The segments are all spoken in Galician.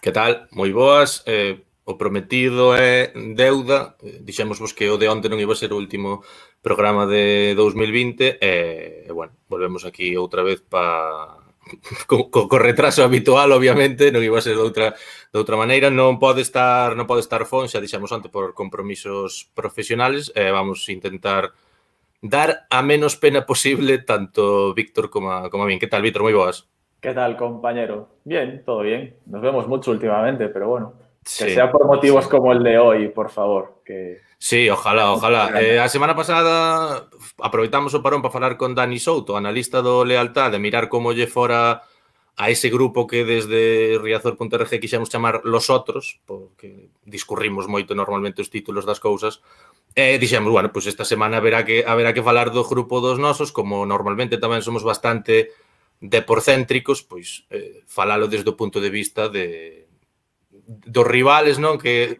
Que tal? Moi boas. O prometido é deuda. Dixémosvos que o de onte non iba a ser o último programa de 2020 bueno, volvemos aquí outra vez co retraso habitual, obviamente, non iba a ser de outra maneira. Non pode estar Fon, xa dixemos onte, por compromisos profesionales. Vamos a intentar dar a menos pena posible tanto Víctor como a min. Que tal, Víctor? Moi boas. ¿Qué tal, compañero? Bien, todo bien. Nos vemos mucho últimamente, pero bueno, que Sí, sea por motivos sí. como el de hoy, por favor. Sí, ojalá. A semana pasada aproveitamos o parón para falar con Dani Souto, analista do Lealtade, mirar como lle fora a ese grupo que desde Riazor.org quixemos chamar Los Otros, porque discurrimos moito normalmente os títulos das cousas. Dixemos, bueno, pois esta semana haberá que falar do grupo dos nosos, como normalmente tamén somos bastante deporcéntricos, pois falalo desde o punto de vista dos rivales, non? Que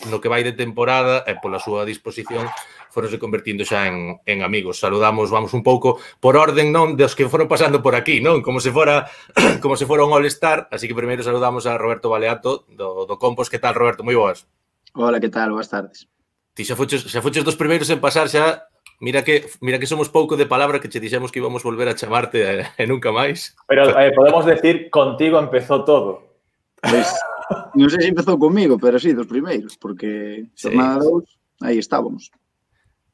no que vai de temporada e pola súa disposición foronse convertindo xa en amigos. Saludamos, vamos un pouco por orden, non, dos que foron pasando por aquí, non? Como se fora un all-star, así que primeiro saludamos a Roberto Baleato do Compos. Que tal, Roberto? Moi boas. Hola, que tal? Boas tardes. Ti xa fuches dos primeiros en pasar xa. Mira que somos pouco de palabra, que che dixemos que íbamos volver a chamarte e nunca máis. Pero podemos decir, contigo empezó todo. Pois, non sei se empezou comigo, pero sí, dos primeiros, porque jornada 2, aí estábamos.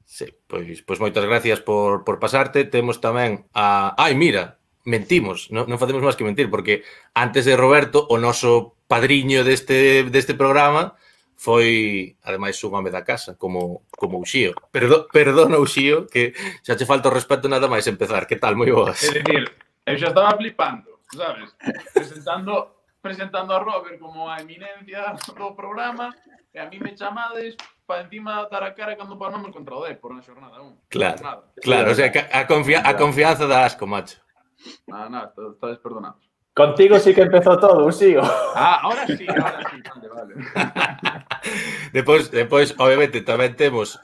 Sí, pois moitas gracias por pasarte. Temos tamén a... Mira, mentimos, non facemos máis que mentir, porque antes de Roberto, o noso padriño deste programa foi, ademais, un home da casa, como Uxío. Perdona, Uxío, que xa che falta o respeto nada máis empezar. Que tal? Moi boas. É dicir, eu xa estaba flipando, sabes? Presentando a Robert como a eminencia do programa, e a mí me chamades para encima dar a cara cando paramos contra o Depor na xornada 1. Claro, o sea, a confianza da asco, macho. Nada, estades perdonados. Contigo sí que empezó todo, Uxío. Ahora sí, vale. Depois, obviamente, tamén temos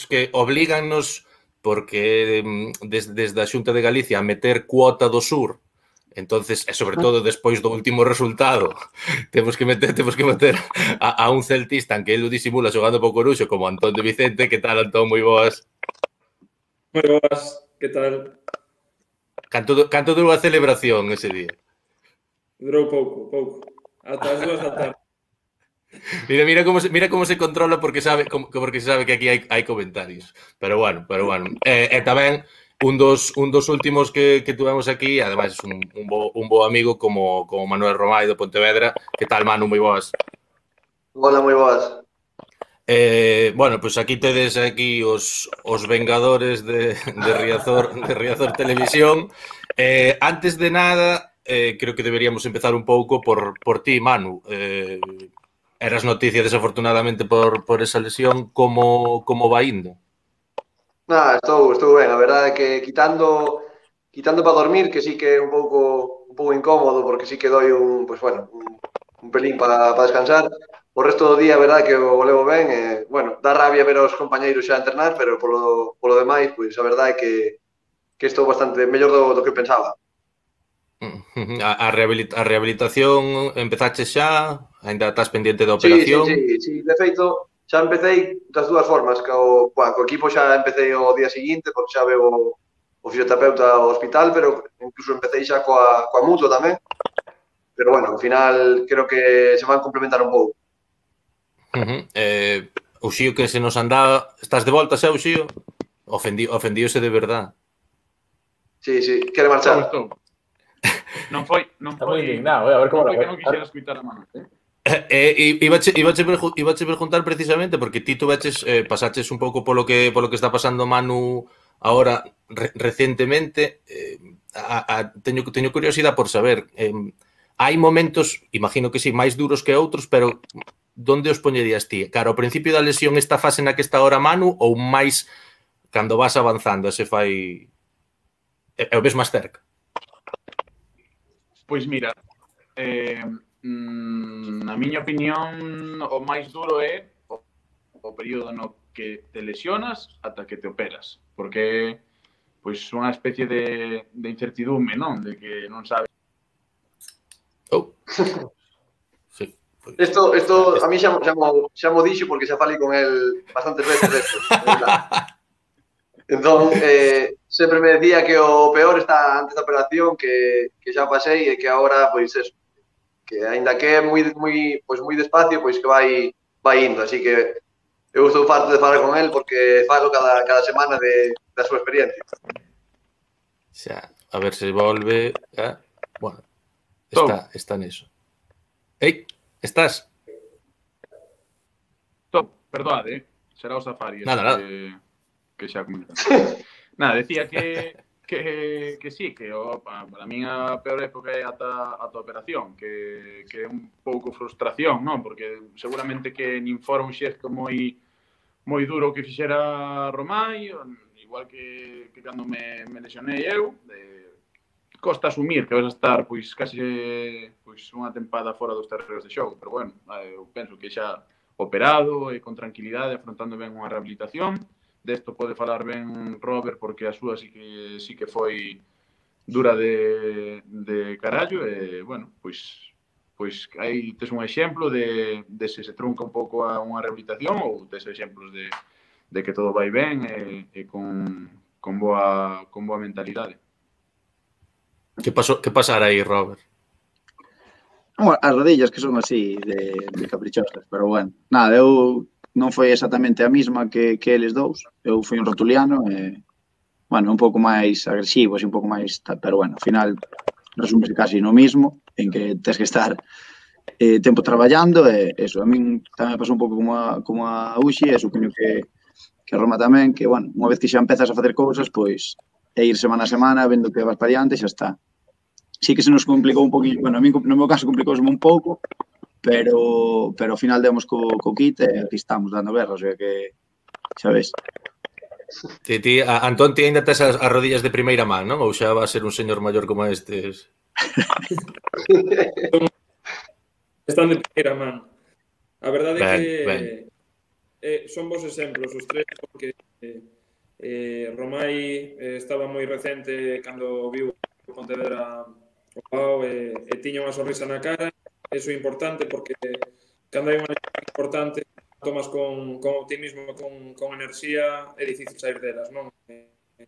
que oblígannos, porque desde a Xunta de Galicia a meter cuota do sur. Entonces, e sobre todo despois do último resultado, temos que meter a un celtista, aunque ele o disimula xogando po Coruxo, como Antón de Vicente. Que tal, Antón? Moi boas. Moi boas, que tal? Canto durou a celebración ese día? Durou pouco. Ata as 2 da tarde. Mira como se controla, porque se sabe que aquí hai comentarios. Pero bueno. E tamén un dos últimos que tuvemos aquí, ademais un bo amigo como Manuel Romai do Pontevedra. Que tal, Manu? Moi boas. Hola, moi boas. Bueno, pois aquí tedes os vengadores de Riazor Televisión. Antes de nada, creo que deberíamos empezar un pouco por ti, Manu. Eras noticia, desafortunadamente, por esa lesión. Como vai indo? Estou ben. A verdade é que quitando para dormir, que sí que é un pouco incómodo, porque sí que doi un pelín para descansar. O resto do día, a verdade é que o levo ben. Bueno, dá rabia ver aos compañeiros xa entrenar, pero polo demais, pois a verdade é que estou bastante mellor do que pensaba. A rehabilitación empezaches xa? Ainda estás pendiente da operación? Sí. De feito, xa empecéi das dúas formas. Co equipo xa empecéi o día seguinte, porque xa veo o fisioterapeuta ao hospital, pero incluso empecéi xa coa mutua tamén. Pero bueno, ao final creo que se van complementar un pouco. Uxío, que se nos andaba... Estás de volta xa, Uxío? Ofendíose de verdad. Sí, quere marchar. Non foi moi indignado, a ver como non foi que non quixera escutar a mano, Ibache preguntar precisamente, porque ti pasaches un pouco polo que está pasando Manu ahora recentemente. Teño curiosidade por saber, hai momentos, imagino que sí, máis duros que outros, pero onde os poñerías ti? Cara, ao principio da lesión, esta fase na que está ahora Manu, ou máis cando vas avanzando se fai... o ves máis cerca? Pois mira, na miña opinión, o máis duro é o período no que te lesionas ata que te operas, porque pois unha especie de incertidume, non? De que non sabes. Isto a mí xa mo dixo porque xa falei con el bastantes veces desto. Entón, sempre me decía que o peor está antes da operación, que xa pasei e que agora, pois, eso, que aínda que é moi despacio, pois que vai indo. Así que eu estou farto de falar con el porque falo cada semana da súa experiencia. Xa, a ver se volve. Bueno, está neso. Ei, estás? Perdoade, será o Safari. Nada. Que xa comentan. Nada, decía que sí, que para min a peor época é ata a operación, que é un pouco frustración, non? Porque seguramente que nin fora un xesto moi duro que fixera Romai, igual que cando me lesionei eu, costa asumir que vas a estar pois case unha tempada fora dos terreos de xogo, pero bueno, eu penso que xa operado e con tranquilidade, afrontando ben unha rehabilitación. Desto pode falar ben Robert porque a súa sí que foi dura de carallo e, bueno, pois aí tes un exemplo de se trunca un pouco a unha rehabilitación ou tes exemplos de que todo vai ben e con boa mentalidade. Que pasará aí, Robert? As rodillas que son así de caprichosas, pero bueno. Nada, eu non foi exactamente a mesma que eles dous. Eu fui un rotuliano e, bueno, un pouco máis agresivo, así un pouco máis... Pero, bueno, ao final, resúmese casi no mismo, en que tens que estar tempo traballando e eso. A min tamén pasou un pouco como a Uxi, e supoño que a Roma tamén, que, bueno, unha vez que xa empezas a facer cousas, pois, é ir semana a semana, vendo que vas para diante e xa está. Sí que se nos complicou un poquinho, bueno, a mí no meu caso complicouse un pouco, pero ao final demos co kit e aquí estamos dando berra, o sea que, xa ves. Antón, ti ainda tes as rodillas de primeira man, non? Ou xa va a ser un señor maior como estes? Están de primeira man. A verdade é que son bons exemplos os tres, porque Romai estaba moi recente cando viu Pontevedra o Pau e tiña unha sonrisa na cara. Eso é importante porque cando hai unha lesión importante tomas con optimismo, con enerxía, é difícil sair delas, non?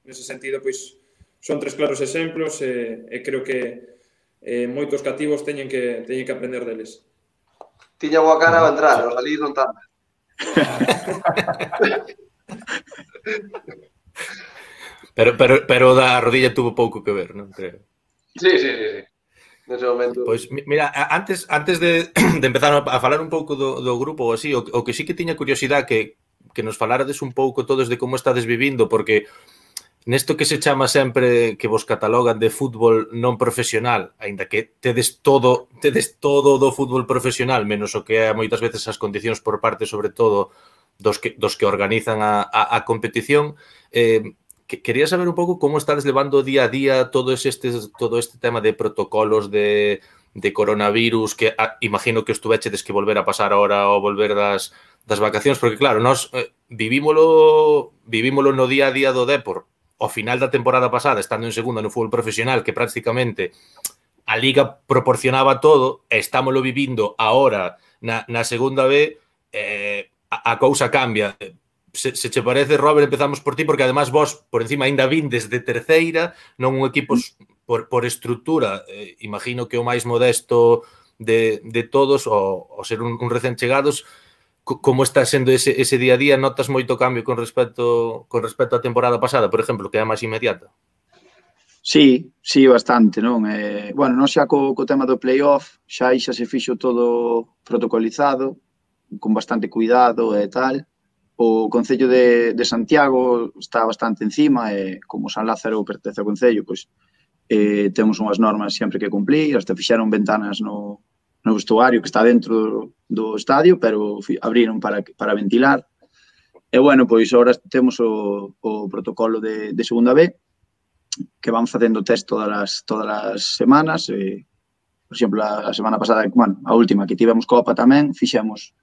Nese sentido, pois, son tres claros exemplos e creo que moitos cativos teñen que aprender deles. Tiña boa cara ao entrar, ao salir non tanto. Pero da rodilla tuvo pouco que ver, non creo. Sí. Nese momento. Pois, mira, antes de empezar a falar un pouco do grupo ou así, o que sí que tiña curiosidade que nos falarades un pouco todos de como estades vivindo, porque nesto que se chama sempre que vos catalogan de fútbol non profesional, aínda que tedes todo do fútbol profesional, menos o que é moitas veces as condicións por parte, sobre todo, dos que organizan a competición, quería saber un pouco como estades levando día a día todo este tema de protocolos de coronavirus, que imagino que estuvechedes que volver a pasar ahora ou volver das vacacións, porque claro, nós vivímolo no día a día do Dépor, ao final da temporada pasada, estando en segunda no fútbol profesional, que prácticamente a Liga proporcionaba todo, e estámoslo vivindo ahora na segunda B, a cousa cambia. Se che parece, Robert, empezamos por ti, porque además vos, por encima, ainda vindes de terceira, non un equipo por estrutura, imagino que o máis modesto de todos, o ser un recén chegados. Como está sendo ese día a día? Notas moito cambio con respecto á temporada pasada, por exemplo, que é a máis inmediata? Sí, bastante, non? Bueno, non xa co tema do playoff, xa se fixo todo protocolizado, con bastante cuidado e tal. O Concello de Santiago está bastante encima e como San Lázaro pertence ao Concello, pois temos unhas normas sempre que cumplir, hasta fixeron ventanas no vestuario que está dentro do estadio, pero abriron para ventilar. E, bueno, pois agora temos o protocolo de segunda B, que vamos facendo test todas as semanas. Por exemplo, a semana pasada, bueno, a última que tivemos Copa tamén, fixemos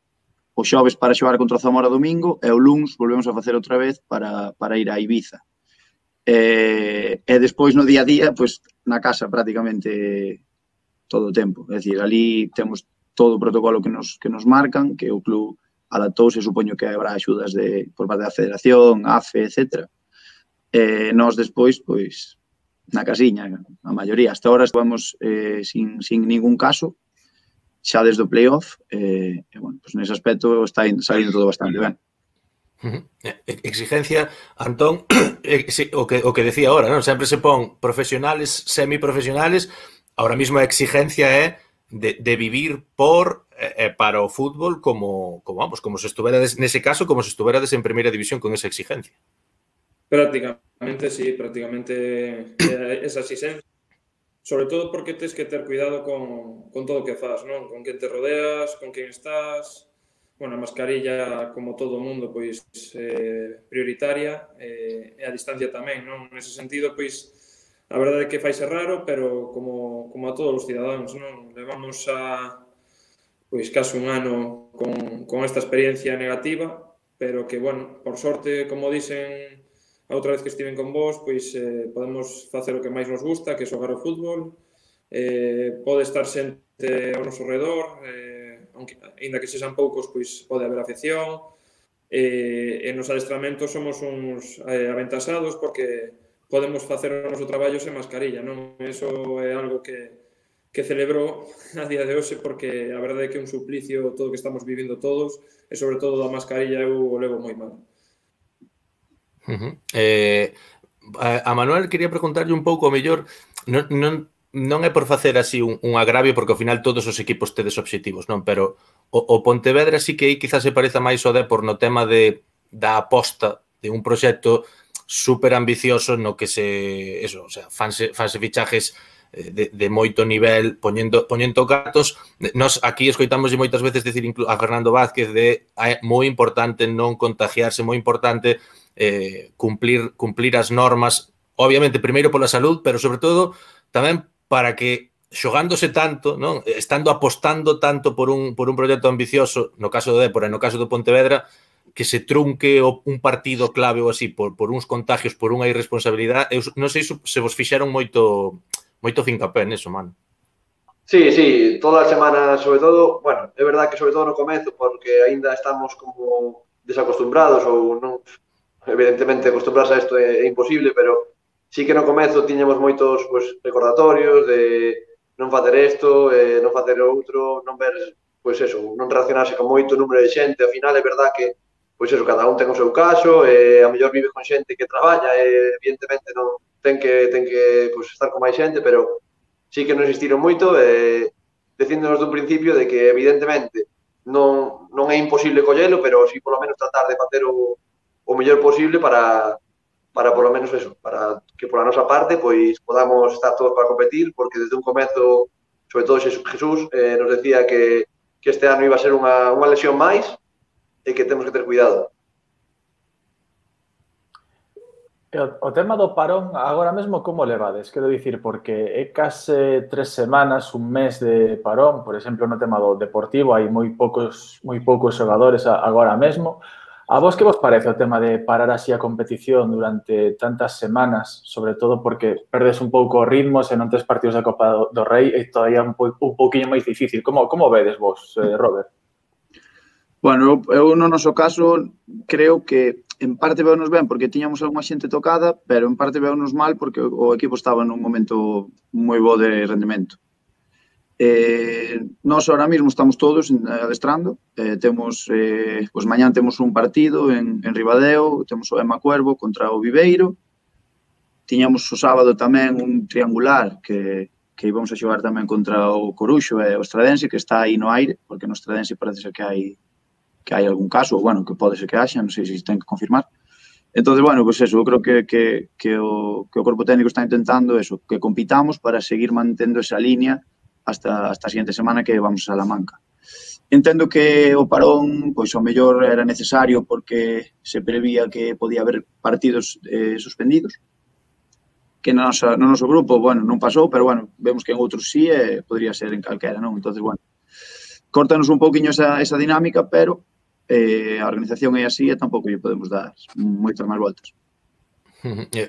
o xoves para xogar contra o Zamora domingo e o luns volvemos a facer outra vez para ir a Ibiza. E despois no día a día, pois na casa prácticamente todo o tempo. É dicir, ali temos todo o protocolo que nos marcan, que o club adaptouse, supoño que habrá axudas por parte da Federación, AFE, etc. Nós despois, pois, na casiña, a maioría. Hasta ahora estamos sin ningún caso, xa desde o playoff, bueno, pues nese aspecto está salindo todo bastante ben. Exigencia, Antón, o que decía ahora, non? Sempre se pon profesionales, semiprofesionales, ahora mismo a exigencia é de vivir para o fútbol como se estuverades, nese caso, como se estuverades en primeira división con esa exigencia. Prácticamente, sí, prácticamente esa exigencia. Sobre todo porque tens que ter cuidado con todo o que faz, non? Con quen te rodeas, con quen estás. Bueno, a mascarilla, como todo o mundo, pois prioritaria, e a distancia tamén, non? Nese sentido, pois, a verdade é que faise raro, pero como a todos os cidadáns, non? Levamos pois case un ano con esta experiencia negativa, pero que, bueno, por sorte, como dicen a outra vez que estiven con vos, pois podemos facer o que máis nos gusta, que é xogar o fútbol, pode estar xente ao noso redor, ainda que sexan poucos, pois pode haber afección, e nos adestramentos somos uns aventasados porque podemos facer o noso traballo sen mascarilla, non? Eso é algo que celebro a día de hoxe porque a verdade é que é un suplicio todo o que estamos vivindo todos e sobre todo da mascarilla eu o levo moi mal. A Manuel quería preguntarlle un pouco, ao mellor, non é por facer así un agravio, porque ao final todos os equipos tedes obxectivos, non? Pero o Pontevedra sí que aí quizás se pareza máis ao Dépor no tema da aposta de un proxecto super ambicioso no que fanse fichajes de moito nivel, poñendo cartos. Nos aquí escoitamos moitas veces decir a Fernando Vázquez é moi importante non contagiarse, moi importante cumplir as normas, obviamente primeiro pola salud, pero sobre todo tamén para que xogándose tanto, non? Estando apostando tanto por un proxecto ambicioso, no caso do Dépor e no caso do Pontevedra, que se trunque un partido clave ou así por uns contagios, por unha irresponsabilidade. Eu non sei se vos fixeron moito fincapé neso, mano. Sí, toda a semana, sobre todo, bueno, é verdad que sobre todo no comezo, porque aínda estamos como desacostumbrados ou non. Evidentemente, acostumbrarse a isto é imposible, pero sí que no comezo tiñamos moitos recordatorios de non facer isto, non facer outro, non ver, non relacionarse con moito número de xente. Ao final é verdad que, cada un ten o seu caso, a mellor vive con xente que traballa, evidentemente non ten que estar con máis xente, pero sí que nos insistiron moito, dicíndonos dun principio de que, evidentemente, non é imposible collelo, pero sí, polo menos, tratar de facer o mellor posible para polo menos eso, para que pola nosa parte pois podamos estar todos para competir, porque desde un comezo, sobre todo Jesús, nos decía que este ano iba a ser unha lesión máis e que temos que ter cuidado. O tema do parón, agora mesmo, como levades? Quero dicir, porque é case 3 semanas, un mes de parón, por exemplo, no tema do Deportivo, hai moi poucos xogadores agora mesmo. A vos que vos parece o tema de parar así a competición durante tantas semanas, sobre todo porque perdes un pouco o ritmo se non tes partidos da Copa do Rei e todavía un pouquinho máis difícil. Como vedes vos, Robert? Bueno, eu no noso caso creo que en parte veunos ben porque tiñamos algunha xente tocada, pero en parte veunos mal porque o equipo estaba nun momento moi bo de rendemento. Nós ahora mismo estamos todos adestrando, temos, mañán temos un partido en Ribadeo, temos o Ema Cuervo contra o Viveiro, tiñamos o sábado tamén un triangular que íbamos a xogar tamén contra o Coruxo e o Estradense, que está aí no aire, porque no Estradense parece ser que hai algún caso, bueno, que pode ser que haxa, non sei se ten que confirmar. Entón, bueno, pues eso, eu creo que o corpo técnico está intentando eso, que compitamos para seguir mantendo esa línea hasta a seguinte semana que vamos a Salamanca. Entendo que o parón, pois, ao mellor era necesario porque se prevía que podía haber partidos suspendidos, que no noso grupo, bueno, non pasou, pero, bueno, vemos que en outros sí, podría ser en calquera, non? Entón, bueno, córtanos un pouquiño esa dinámica, pero a organización é así e tampouco lle podemos dar moitas máis voltas.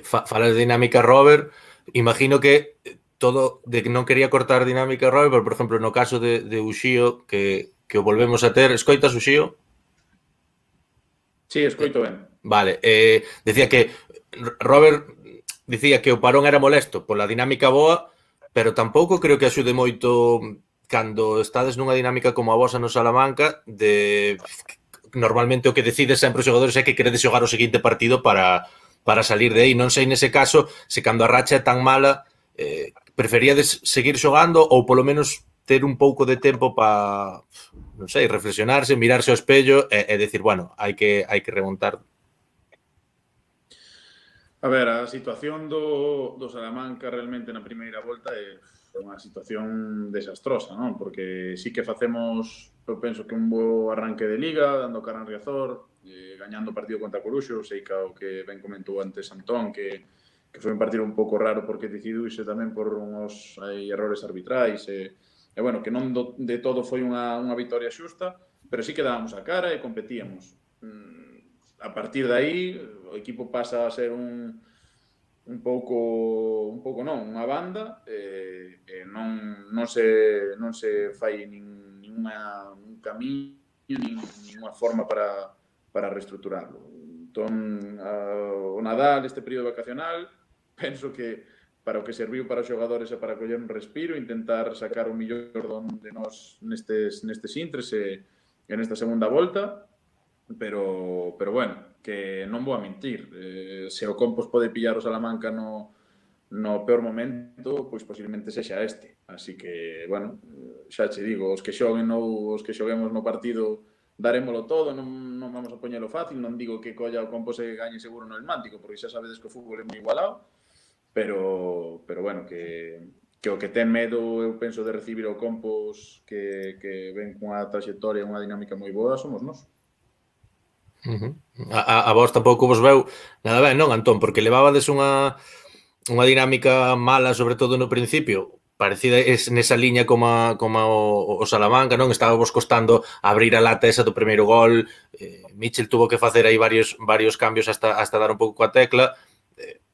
Falas de dinámica, Robert, imagino que todo de que non quería cortar dinámica Robert, pero, por exemplo, no caso de Uxío, que o volvemos a ter, escoitas Uxío? Sí, escoito ben. Vale, decía que Robert dicía que o parón era molesto pola dinámica boa, pero tampouco creo que axude moito cando estades nunha dinámica como a vosa no Salamanca, de normalmente o que decide sempre os xogadores é que queredes xogar o seguinte partido para salir de aí. Non sei nese caso se cando a racha é tan mala preferíades seguir xogando ou polo menos ter un pouco de tempo para, non sei, reflexionarse, mirarse ao espello e decir, bueno, hai que remontar. A ver, a situación do Salamanca realmente na primeira volta é unha situación desastrosa, non? Porque sí que facemos, eu penso que un bo arranque de Liga, dando cara a Riazor, gañando o partido contra Coruxo, sei que o que ben comentou antes Antón, que foi un partido un pouco raro porque decidiuse tamén por uns errores arbitrais e bueno, que non de todo foi unha vitoria xusta, pero sí que dábamos a cara e competíamos. A partir de aí, o equipo pasa a ser un pouco non, unha banda, non se fai un camiño, ninguna forma para reestructurarlo. Entón, o Nadal, este período vacacional, penso que para o que serviu para os xogadores é para coller un respiro, intentar sacar o millor de nós nestes intres e nesta segunda volta, pero bueno, que non vou a mentir, se o Compos pode pillar o Salamanca no peor momento, pois posiblemente sexa este. Así que, bueno, xa che digo, os que xoguemos no partido darémolo todo, non vamos a poñelo fácil, non digo que colla o Compos e gañe seguro no Elmántico, porque xa sabedes que o fútbol é moi igualado, pero bueno, que o que ten medo, eu penso, de recibir o Compos que ven cunha trayectoria, unha dinámica moi boa, somos nós. A vos tampouco vos veu nada ben, non, Antón? Porque levabades unha dinámica mala, sobre todo no principio, parecida nesa liña como o Salamanca, non? Estaba vos costando abrir a lata esa do primeiro gol, Michel tuvo que facer aí varios cambios hasta dar un pouco coa tecla.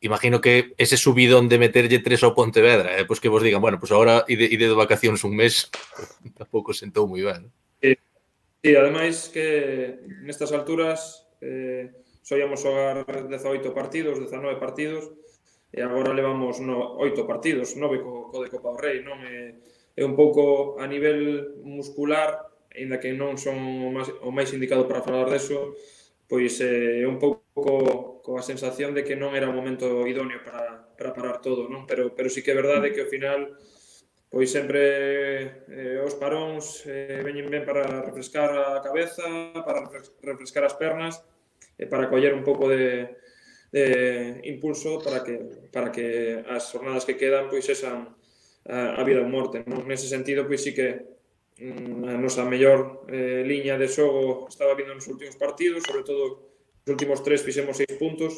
Imagino que ese subidón de meterlle 3 ao Pontevedra, pois que vos digan, bueno, pois agora ide de vacacións un mes, tampouco sentou moi ben. Sí, ademais que nestas alturas soíamos xogar 18 partidos, 19 partidos, e agora levamos 8 partidos, 9 co de Copa do Rei, non? É un pouco a nivel muscular, aínda que non son o máis indicado para falar deso, pois é un pouco coa sensación de que non era o momento idóneo para parar todo, non? Pero sí que é verdade que ao final pois sempre os paróns veñen ben para refrescar a cabeza, para refrescar as pernas e para coller un pouco de impulso para que as jornadas que quedan pois exan a vida ou morte, non? Nese sentido, pois sí que a nosa mellor liña de xogo estaba vindo nos últimos partidos, sobre todo nos últimos 3 fixemos 6 puntos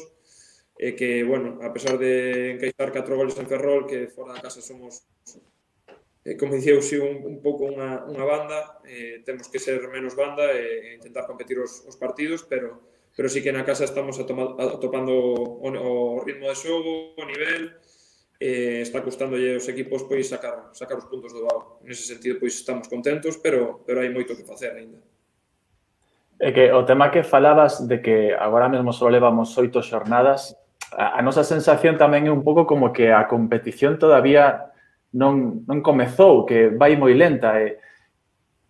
e que, bueno, a pesar de encaixar 4 goles en Ferrol, que fora da casa somos, como dicía Uxío, un pouco unha banda, temos que ser menos banda e intentar competir os partidos, pero sí que na casa estamos atopando o ritmo de xogo, o nivel, está custándolle aos equipos pois sacar os puntos do Bao. Nese sentido, pois estamos contentos, pero hai moito que facer aínda. É que o tema que falabas de que agora mesmo só levamos 8 xornadas, a nosa sensación tamén é un pouco como que a competición todavía non comezou, que vai moi lenta.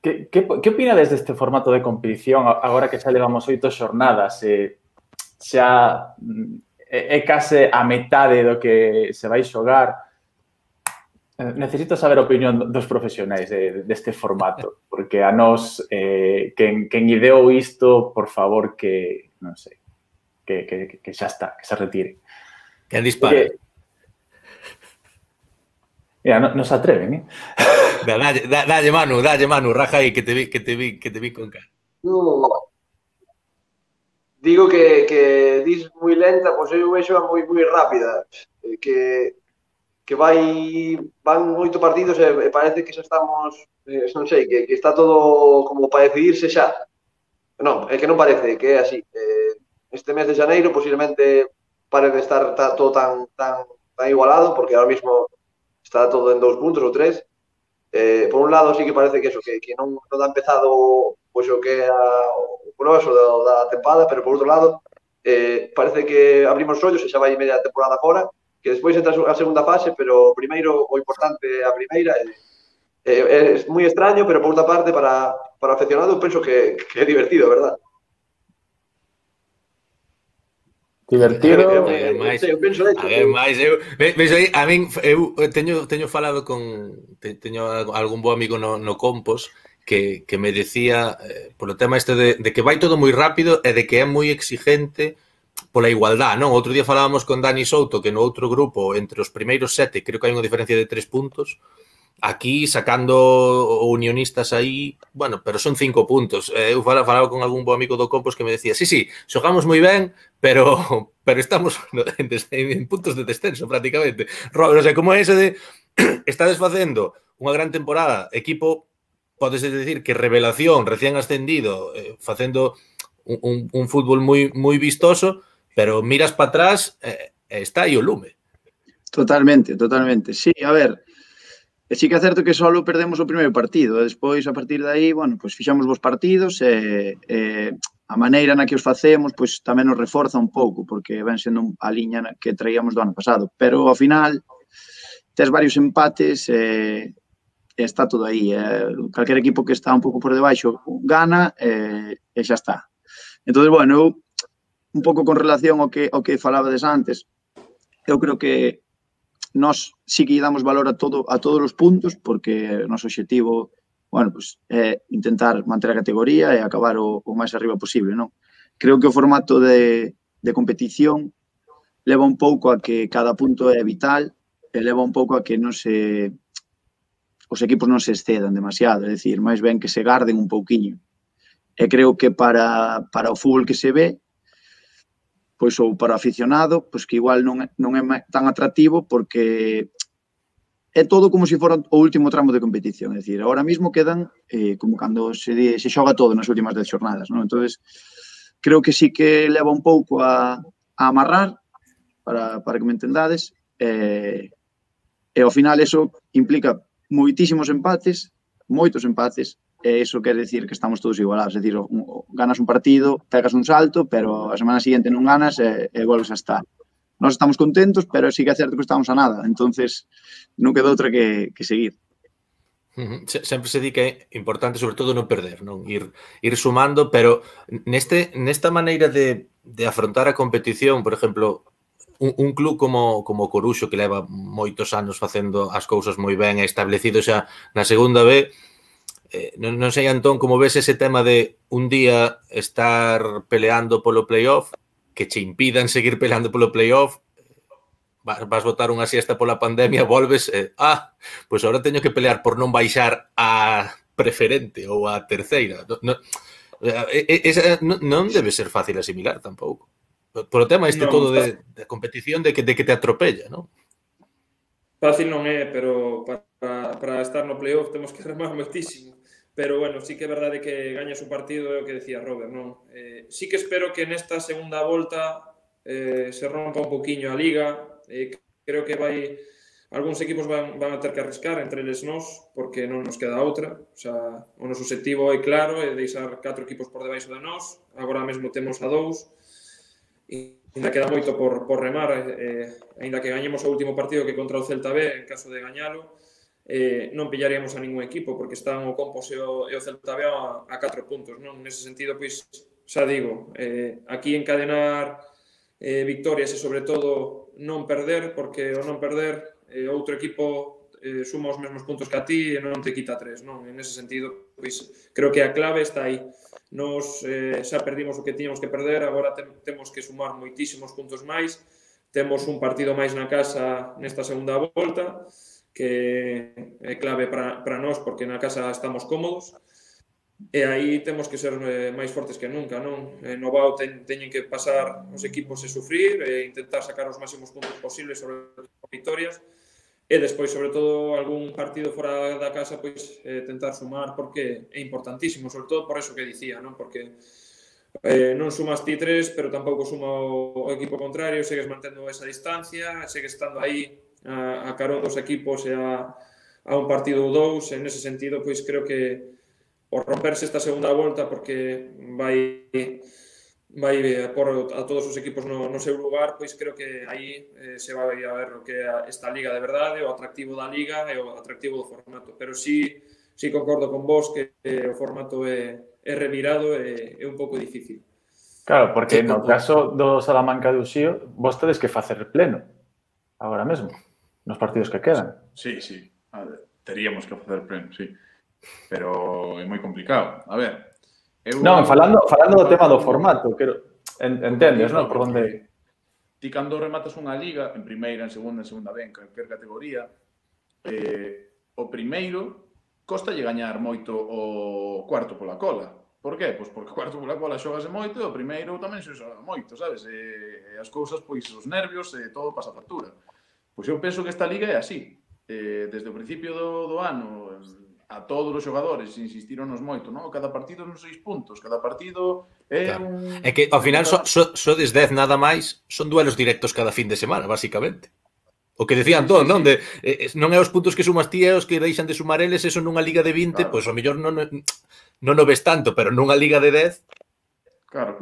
Que opinades deste formato de competición agora que xa levamos 8 xornadas? Xa é case a metade do que se vai xogar. Necesito saber a opinión dos profesionais deste formato, porque a nós, quen ideou isto, por favor, que, non sei, que xa está, que se retire. Quen dispara? Mira, non se atreven, Dalle, Manu, raja aí, que te vi con cara. Digo que dis moi lenta, pois eu vexo moi rápida, que van 8 partidos e parece que xa estamos, non sei, que está todo como para decidirse xa. Non, é que non parece, que é así. Este mes de xaneiro posiblemente pare de estar todo tan igualado, porque ahora mismo está todo en 2 puntos ou 3. Por un lado, sí que parece que eso, que non dá empezado pois o que é o grosso da tempada, pero por outro lado, parece que abrimos os ollos e xa vai media temporada fora, que despois entra a segunda fase, pero primeiro o importante é a primeira. É moi extraño, pero por outra parte, para aficionado, penso que é divertido, verdad? Divertido. Teño falado teño algún bo amigo no Compos que me decía polo tema este de que vai todo moi rápido e de que é moi exigente pola igualdad, non? Outro día falábamos con Dani Souto que no outro grupo, entre os primeiros 7, creo que hai unha diferencia de 3 puntos. Aquí, sacando unionistas aí, bueno, pero son 5 puntos. Eu falaba con algún bo amigo do Compos que me decía, sí, xogamos moi ben, pero estamos en puntos de descenso, prácticamente. Robert, o sea, como é ese de estades facendo unha gran temporada, equipo, podes decir que revelación, recién ascendido, facendo un fútbol moi vistoso, pero miras para atrás está aí o lume. Totalmente. Sí, a ver, sí que é certo que só perdemos o primeiro partido, e despois, a partir de aí, bueno, pois fixamos vos partidos e a maneira na que os facemos pois tamén nos reforza un pouco, porque ven sendo a liña que traíamos do ano pasado, pero ao final tes varios empates e está todo aí. Calquer equipo que está un pouco por debaixo gana e xa está. Entón, bueno, eu, un pouco con relación ao que falabades antes, eu creo que nós sí que damos valor a todos os puntos, porque o noso obxectivo, bueno, pues, é intentar manter a categoría e acabar o máis arriba posible, non? Creo que o formato de competición leva un pouco a que cada punto é vital e leva un pouco a que os equipos non se excedan demasiado, é dicir, máis ben que se garden un pouquiño. E creo que para o fútbol que se ve, pois ou para o aficionado, pois que igual non é tan atractivo porque é todo como se fora o último tramo de competición. É dicir, agora mesmo quedan como cando se xoga todo nas últimas 10 xornadas, non? Entón, creo que sí que leva un pouco a amarrar, para que me entendades, e ao final eso implica moitísimos empates, moitos empates, e iso quer decir que estamos todos igualados. É dicir, ganas un partido, pegas un salto, pero a semana seguinte non ganas e volves a estar. Nós estamos contentos, pero sí que é certo que estamos a nada. Entonces, non queda outra que seguir. Sempre se di que é importante, sobre todo, non perder, non ir sumando, pero nesta maneira de afrontar a competición, por exemplo, un club como Coruxo, que leva moitos anos facendo as cousas moi ben e establecido xa na segunda B, non sei, Antón, como ves ese tema de un día estar peleando polo playoff, que che impidan seguir peleando polo playoff, vas botar unha siesta pola pandemia, volves, pois agora teño que pelear por non baixar a preferente ou a terceira. Non debe ser fácil asimilar tampouco. Por o tema este todo de competición, de que te atropella, non? Fácil non é, pero para estar no playoff temos que remar moitísimo. Pero, bueno, sí que é verdade que gañas un partido, é o que decía Robert, non? Sí que espero que nesta segunda volta se rompa un poquinho a Liga. Creo que algúns equipos van a ter que arriscar, entre eles nós, porque non nos queda outra. O sea, o noso objetivo é claro, é deixar 4 equipos por debaixo de nós. Agora mesmo temos a 2. E ainda queda moito por remar, ainda que gañemos o último partido que contra o Celta B, en caso de gañalo, non pillaríamos a ningún equipo, porque están o Compos e o Celta B a 4 puntos, non? Nese sentido, pois, xa digo, aquí encadenar victorias e, sobre todo, non perder, porque o non perder, outro equipo suma os mesmos puntos que a ti e non te quita 3, non? En ese sentido, pois, creo que a clave está aí. Nos xa perdimos o que tiñamos que perder, agora temos que sumar moitísimos puntos máis, temos un partido máis na casa nesta segunda volta, que é clave para nós, porque na casa estamos cómodos, e aí temos que ser máis fortes que nunca, non? No Bao teñen que pasar os equipos e sufrir, e intentar sacar os máximos puntos posibles sobre victorias, e despois, sobre todo, algún partido fora da casa, pois tentar sumar, porque é importantísimo, sobre todo por eso que dicía, non? Porque non sumas ti 3, pero tampouco suma o equipo contrario, segues mantendo esa distancia, segues estando aí a carón dos equipos e a un partido ou dous. En ese sentido, pois creo que o romperse esta segunda volta, porque vai por a todos os equipos no seu lugar, pois creo que aí se vai a ver o que é esta liga de verdade, o atractivo da liga e o atractivo do formato. Pero sí concordo con vos que o formato é revirado e é un pouco difícil. Claro, porque no caso do Salamanca de Uxío, vos tedes que facer pleno agora mesmo, nos partidos que quedan. Sí. A ver, teríamos que facer pleno, sí. Pero é moi complicado. A ver... Non, falando do tema do formato, entendes, non? Por onde... Ti cando rematas unha liga, en primeira, en segunda B, en calquer categoría, o primeiro costalle gañar moito o cuarto pola cola. Por qué? Pois porque o cuarto pola cola xogase moito e o primeiro tamén se xoga moito, sabes? E as cousas, pois, os nervios e todo pasa factura. Pois eu penso que esta liga é así. Desde o principio do ano, a todos os xogadores insistironos moito, non? Cada partido son 6 puntos, cada partido é un... É que ao final sodes 10 nada máis, son duelos directos cada fin de semana, basicamente. O que decían todos, non? Non é os puntos que sumas ti e os que deixan de sumar eles, eso nunha liga de 20, pois ao mellor non o ves tanto, pero nunha liga de 10... Claro.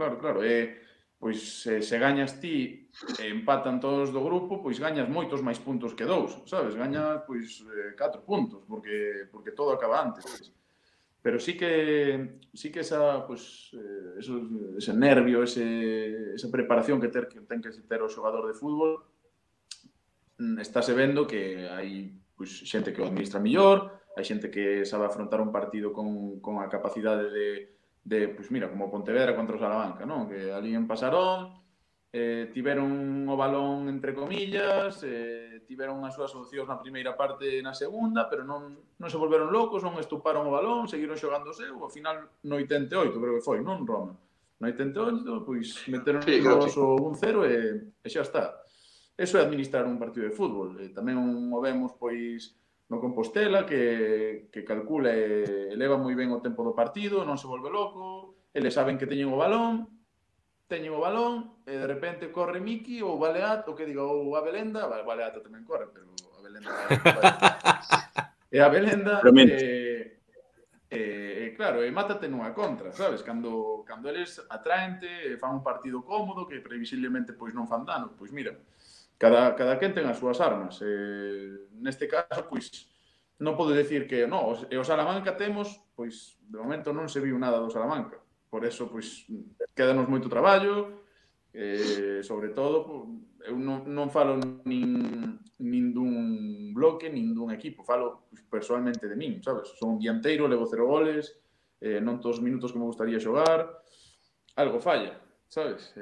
Pois se gañas ti e empatan todos do grupo, pois gañas moitos máis puntos que 2, sabes? Gañas, pois, 4 puntos, porque todo acaba antes. Pero sí que esa, pois, ese nervio, esa preparación que ten que ter o xogador de fútbol, estáse vendo que hai pois, xente que o administra mellor, hai xente que sabe afrontar un partido con a capacidade de pois mira, como Pontevedra contra o Salamanca, non? Que ali en Pasarón tiveron o balón entre comillas, tiveron as súas opcións na primeira parte e na segunda, pero non se volveron locos, non estuparon o balón, seguiron xogando o seu, ao final no 88 creo que foi, non, Roma? No 88, pois meteron o 1-0 e xa está. Eso é administrar un partido de fútbol. Tamén o vemos, pois, no Compostela, que calcula e eleva moi ben o tempo do partido, non se volve loco, eles saben que teñen o balón, e de repente corre Miki ou Baleat, ou que diga, ou Abelenda, Baleata tamén corre, pero Abelenda... E Abelenda, claro, e mátate nunha contra, sabes? Cando eles atraente, fan un partido cómodo, que previsiblemente pois non fan dano, pois mira, cada quen ten as súas armas. Neste caso, pois, non podo decir que non, e o Salamanca temos, pois, de momento non se viu nada do Salamanca. Por eso, pois, quédanos moito traballo, sobre todo, eu non falo nin dun bloque, nin dun equipo, falo personalmente de min, sabes? Son un dianteiro, levo 0 goles, non todos os minutos que me gustaría xogar, algo falla. Sabes?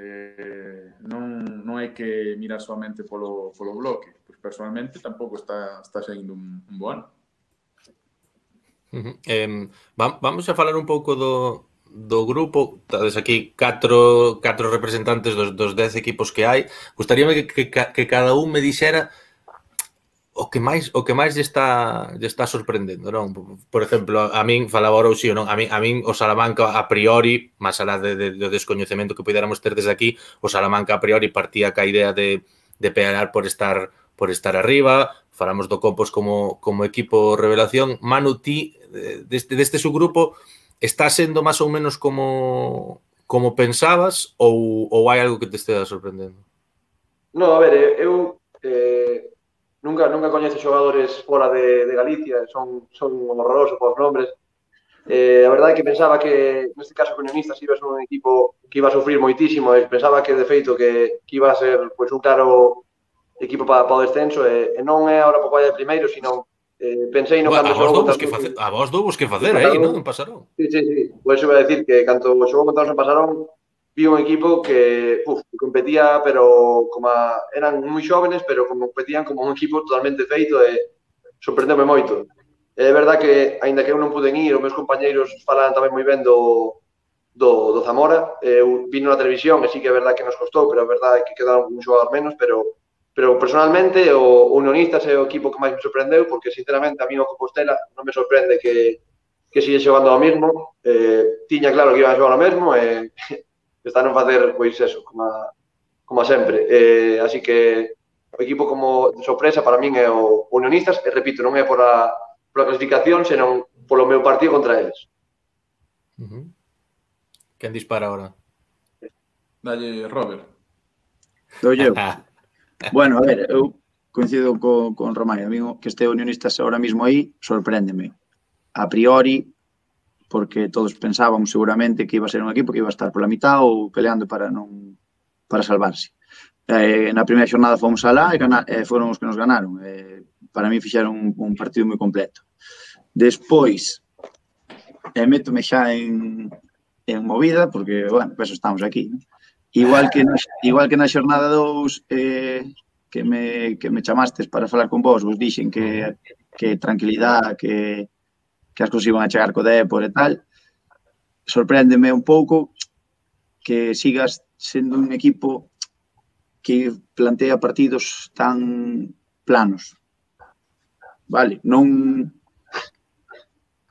Non hai que mirar solamente polo bloque. Pois personalmente tampouco está saindo un bo ano. Vamos a falar un pouco do grupo. Tades aquí 4 representantes dos 10 equipos que hai. Gustaríame que cada un me dixera o que máis lle está sorprendendo, non? Por exemplo, a min falaba ahora Uxío, non? A min o Salamanca a priori, máis alá do descoñecemento que puidéramos ter desde aquí, o Salamanca a priori partía ca idea de pelear por estar arriba. Falamos do Compos como equipo revelación. Manu, ti deste subgrupo está sendo máis ou menos como pensabas ou hai algo que te estea sorprendendo? No, a ver, eu nunca coñezo xogadores fora de Galicia, son horrorosos por nombres. A verdade é que pensaba que, neste caso, Unionistas iba a ser un equipo que iba a sufrir moitísimo, e pensaba que, de feito, que iba a ser pois, un claro equipo para o descenso, e non é ahora para o de primeiro, sino pensei no cando xogou contra... A vos dous que facer aí, non? En Pasarón. Sí. Pois iba a decir que cando xogou contra os en Pasarón, vi un equipo que competía, pero como eran moi xóvenes, pero competían como un equipo totalmente feito e sorprendeume moito. É verdade que, aínda que eu non pude ir, os meus compañeiros falan tamén moi ben do Zamora. Eu vino na televisión e sí que é verdade que nos costou, pero é verdade que quedaron un xogador menos, pero personalmente o Unionistas é o equipo que máis me sorprendeu, porque sinceramente a mí o Compostela non me sorprende que sigue xogando ao mesmo. Tiña claro que iban a xogar ao mesmo e están a facer, pois, eso, como sempre. Así que o equipo como de sorpresa para min é o Unionistas, e repito, non é pola clasificación, senón polo meu partido contra eles. Quen dispara ahora? Dalle, Robert. Dou eu. Bueno, a ver, eu coincido con Román. A mí que este Unionistas ahora mismo aí sorpréndeme. A priori, porque todos pensábamos seguramente que iba a ser un equipo que iba a estar pola mitad ou peleando para salvarse. Na primeira xornada fomos alá e foron os que nos ganaron. Para mí fixeron un partido moi completo. Despois, métome xa en movida, porque, bueno, por eso estamos aquí, ¿no? Igual que na xornada 2 que me chamastes para falar con vos dixen que tranquilidade, que as cousas iban a chegar co Depor e tal. Sorpréndeme un pouco que sigas sendo un equipo que plantea partidos tan planos. Vale, non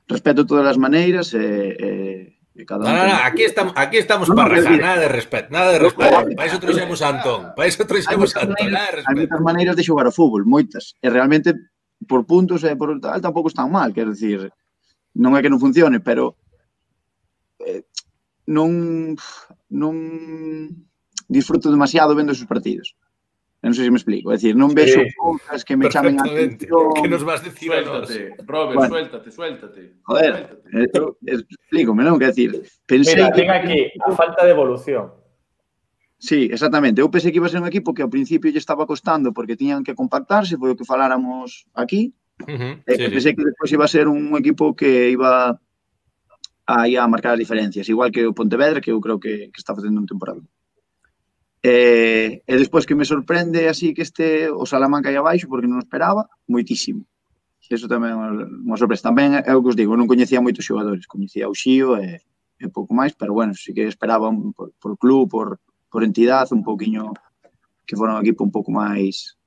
respeto todas as maneiras cada un... No, aquí estamos para rajar, nada de respeto. Para iso trouxemos a Antón, nada de respeto. Hai moitas maneiras de xogar ao fútbol, moitas. E realmente, por puntos e por tal, tampouco están mal, quer decir, non é que non funcione, pero non disfruto demasiado vendo esos partidos. Non sei se me explico. É dicir, non vexo cousas que me chamen a atención. Que nos vas decir a nós? Robert, suéltate. Joder, explícome, non? Quer decir, pensei... Mira, ten aquí a falta de evolución. Sí, exactamente. Eu pensei que iba a ser un equipo que ao principio lle estaba costando porque tiñan que compactarse, foi o que faláramos aquí. Pensei que despois iba a ser un equipo que iba a marcar as diferencias, igual que o Pontevedra, que eu creo que está facendo un temporada. E despois que me sorprende así que o Salamanca aí abaixo, porque non o esperaba, moitísimo. Eso tamén é unha sorpresa. Tamén é o que os digo, non coñecía moitos xogadores, coñecía o Xío e pouco máis, pero bueno, sí que esperaba por club, por entidade, un pouquiño que fora un equipo un pouco máis,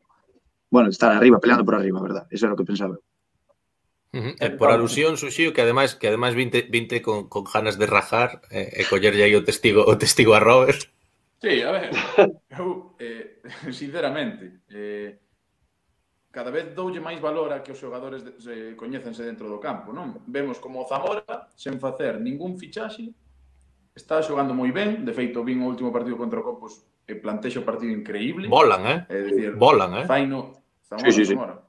bueno, estar arriba, peleando por arriba, verdad? Eso era o que pensaba. Por alusión, Suxío, que ademais vinte con ganas de rajar e collerlle aí o testigo a Robert. Sí, a ver, eu, sinceramente, cada vez doulle máis valor a que os xogadores coñécense dentro do campo, non? Vemos como o Zamora, sen facer ningún fichaxe, está xogando moi ben. De feito, vin o último partido contra o Copos e plantexa o partido increíble. Volan, Volan, Faino, Zamora.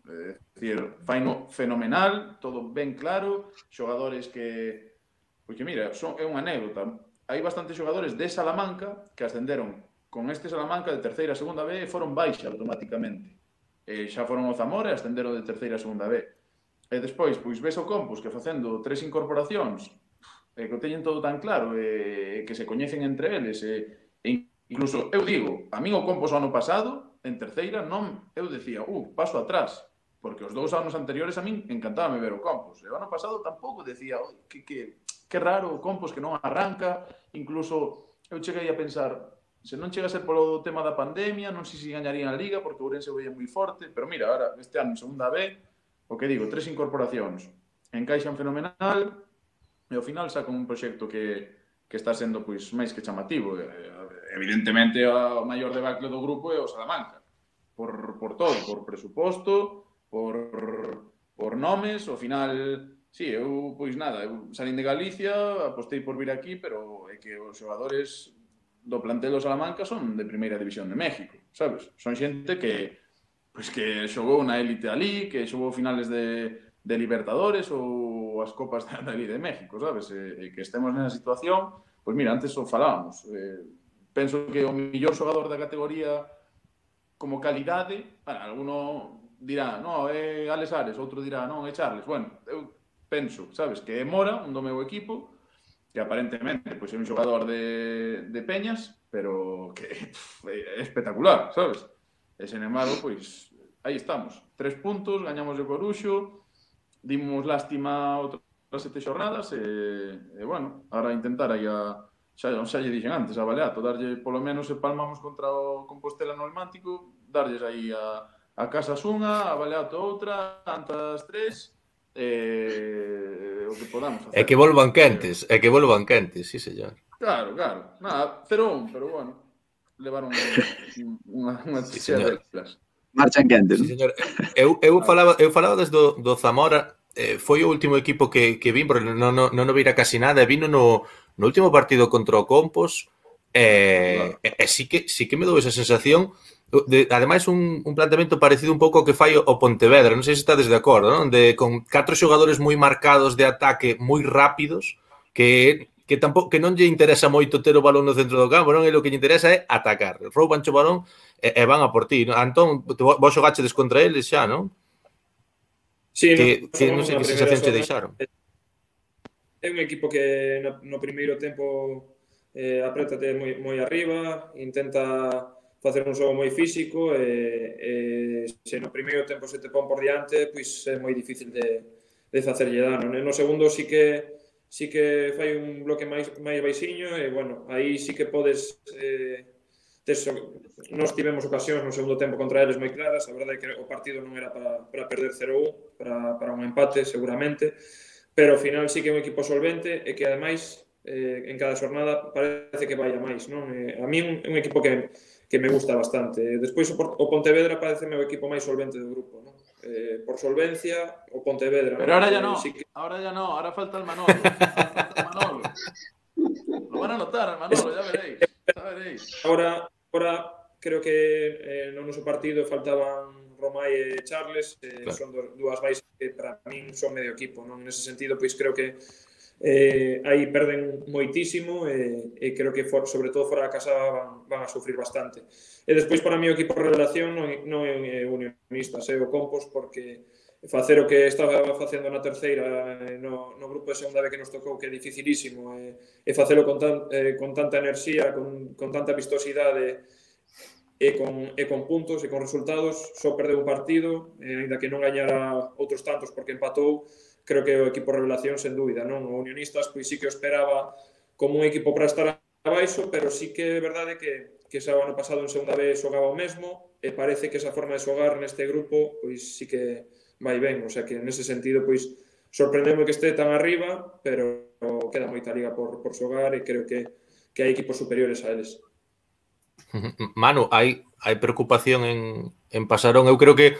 É dicir, faino fenomenal, todo ben claro, xogadores que... Porque, mira, é unha anécdota. Hai bastantes xogadores de Salamanca que ascenderon con este Salamanca de terceira a segunda B e foron baixa automáticamente. Xa foron o Zamora e ascenderon de terceira a segunda B. E despois, pois, ves o Compos que facendo 3 incorporacións que o teñen todo tan claro e que se coñecen entre eles e incluso, eu digo, a min o Compos o ano pasado, en terceira, non, eu decía, paso atrás, porque os 2 anos anteriores a min encantábame ver o Compos. E o ano pasado tampouco decía, que raro o Compos que non arranca, incluso eu cheguei a pensar, se non chega a ser polo tema da pandemia, non sei se gañarían a Liga, porque o Ourense veía moi forte, pero mira, ahora, este ano en segunda B, o que digo, 3 incorporacións, encaixan fenomenal, e ao final sacan un proxecto que está sendo pois máis que chamativo. Evidentemente, o maior debacle do grupo é o Salamanca, por todo, por presuposto, por nomes, ao final... Sí, eu, pois nada, eu salín de Galicia, apostei por vir aquí, pero é que os xogadores do plantel do Salamanca son de primeira división de México, sabes? Son xente que xogou na élite ali, que xogou finales de Libertadores ou as copas da élite de México, sabes? E que estemos nesa situación, pois mira, antes o falábamos. Penso que o mellor xogador da categoría como calidade, alguno dirá, non, é Alex Ares, outro dirá, non, é Charles. Bueno, eu penso, sabes, que é Mora, un do meu equipo, que aparentemente pois, é un xogador de Peñas, pero que é espectacular, sabes? E, sen embargo, pois, aí estamos. 3 puntos, gañamos de Coruxo, dimos lástima outras 7 xornadas, e bueno, ahora intentar aí xa lle dixen antes, a Baleato, darlle, polo menos, se palmamos contra o Compostela no Almántico, darlles aí a Casas unha, a Baleato outra, Antas 3, o que podamos facer. É que volvan quentes, sí, señor. Claro. Nada, 0-1, pero bueno. levar unha chea delas. Marchan quente, Sí, non? señor. Eu falaba desde do Zamora, foi o último equipo que vin, porque non o vira casi nada, e vino no último partido contra o Compos, sí que me dou esa sensación, ademais un planteamento parecido un pouco ao que fai o Pontevedra, non sei se estades de acordo, non? Con 4 xogadores moi marcados de ataque, moi rápidos, que non lle interesa moito ter o balón no centro do campo, non? E o que lle interesa é atacar. Rouban o balón e van a por ti. Antón, vos xogachedes contra eles xa, non? Sí, Que non sei que sensación che deixaron. É un equipo que no primeiro tempo aprétate moi arriba, intenta facer un xogo moi físico e se no primeiro tempo se te pon por diante, pois é moi difícil de facerlle dano. No segundo sí que fai un bloque máis baixiño e, bueno, aí sí que podes... Nós tivemos ocasións no segundo tempo contra eles moi claras, a verdade é que o partido non era para perder 0-1, para un empate seguramente, pero ao final sí que é un equipo solvente e que ademais en cada xornada parece que vai a máis, non? A mí é un equipo que me gusta bastante. Despois o Pontevedra parece o equipo máis solvente do grupo, non? Por solvencia, o Pontevedra. Pero ahora ya no, ahora falta el Manolo. Lo van a notar al Manolo, ya veréis. Ahora creo que no noso partido faltaban Romai e Charles, claro. Son dúas baixas que para min son medio equipo, non? Nese sentido, pois creo que aí perden moitísimo e creo que sobre todo fora da casa van a sufrir bastante. E despois para mí o equipo revelación non é Unionistas, é o Compos, porque facer o que estaba facendo na terceira no grupo de segunda B que nos tocou, que é dificilísimo, e facelo con tanta enerxía, con tanta vistosidade e con puntos e con resultados, só perdeu un partido, ainda que non gañara outros tantos porque empatou. Creo que o equipo revelación, sen dúbida, non? O Unionistas, pois sí que o esperaba como un equipo para estar abaixo, pero sí que é verdade que xa o ano pasado en segunda B xogaba o mesmo e parece que esa forma de xogar neste grupo, pois sí que vai ben, o sea que nese sentido, pois sorprendeme que este tan arriba, pero queda moita liga por xogar e creo que hai equipos superiores a eles. Manu, hai preocupación en Pasarón. Eu creo que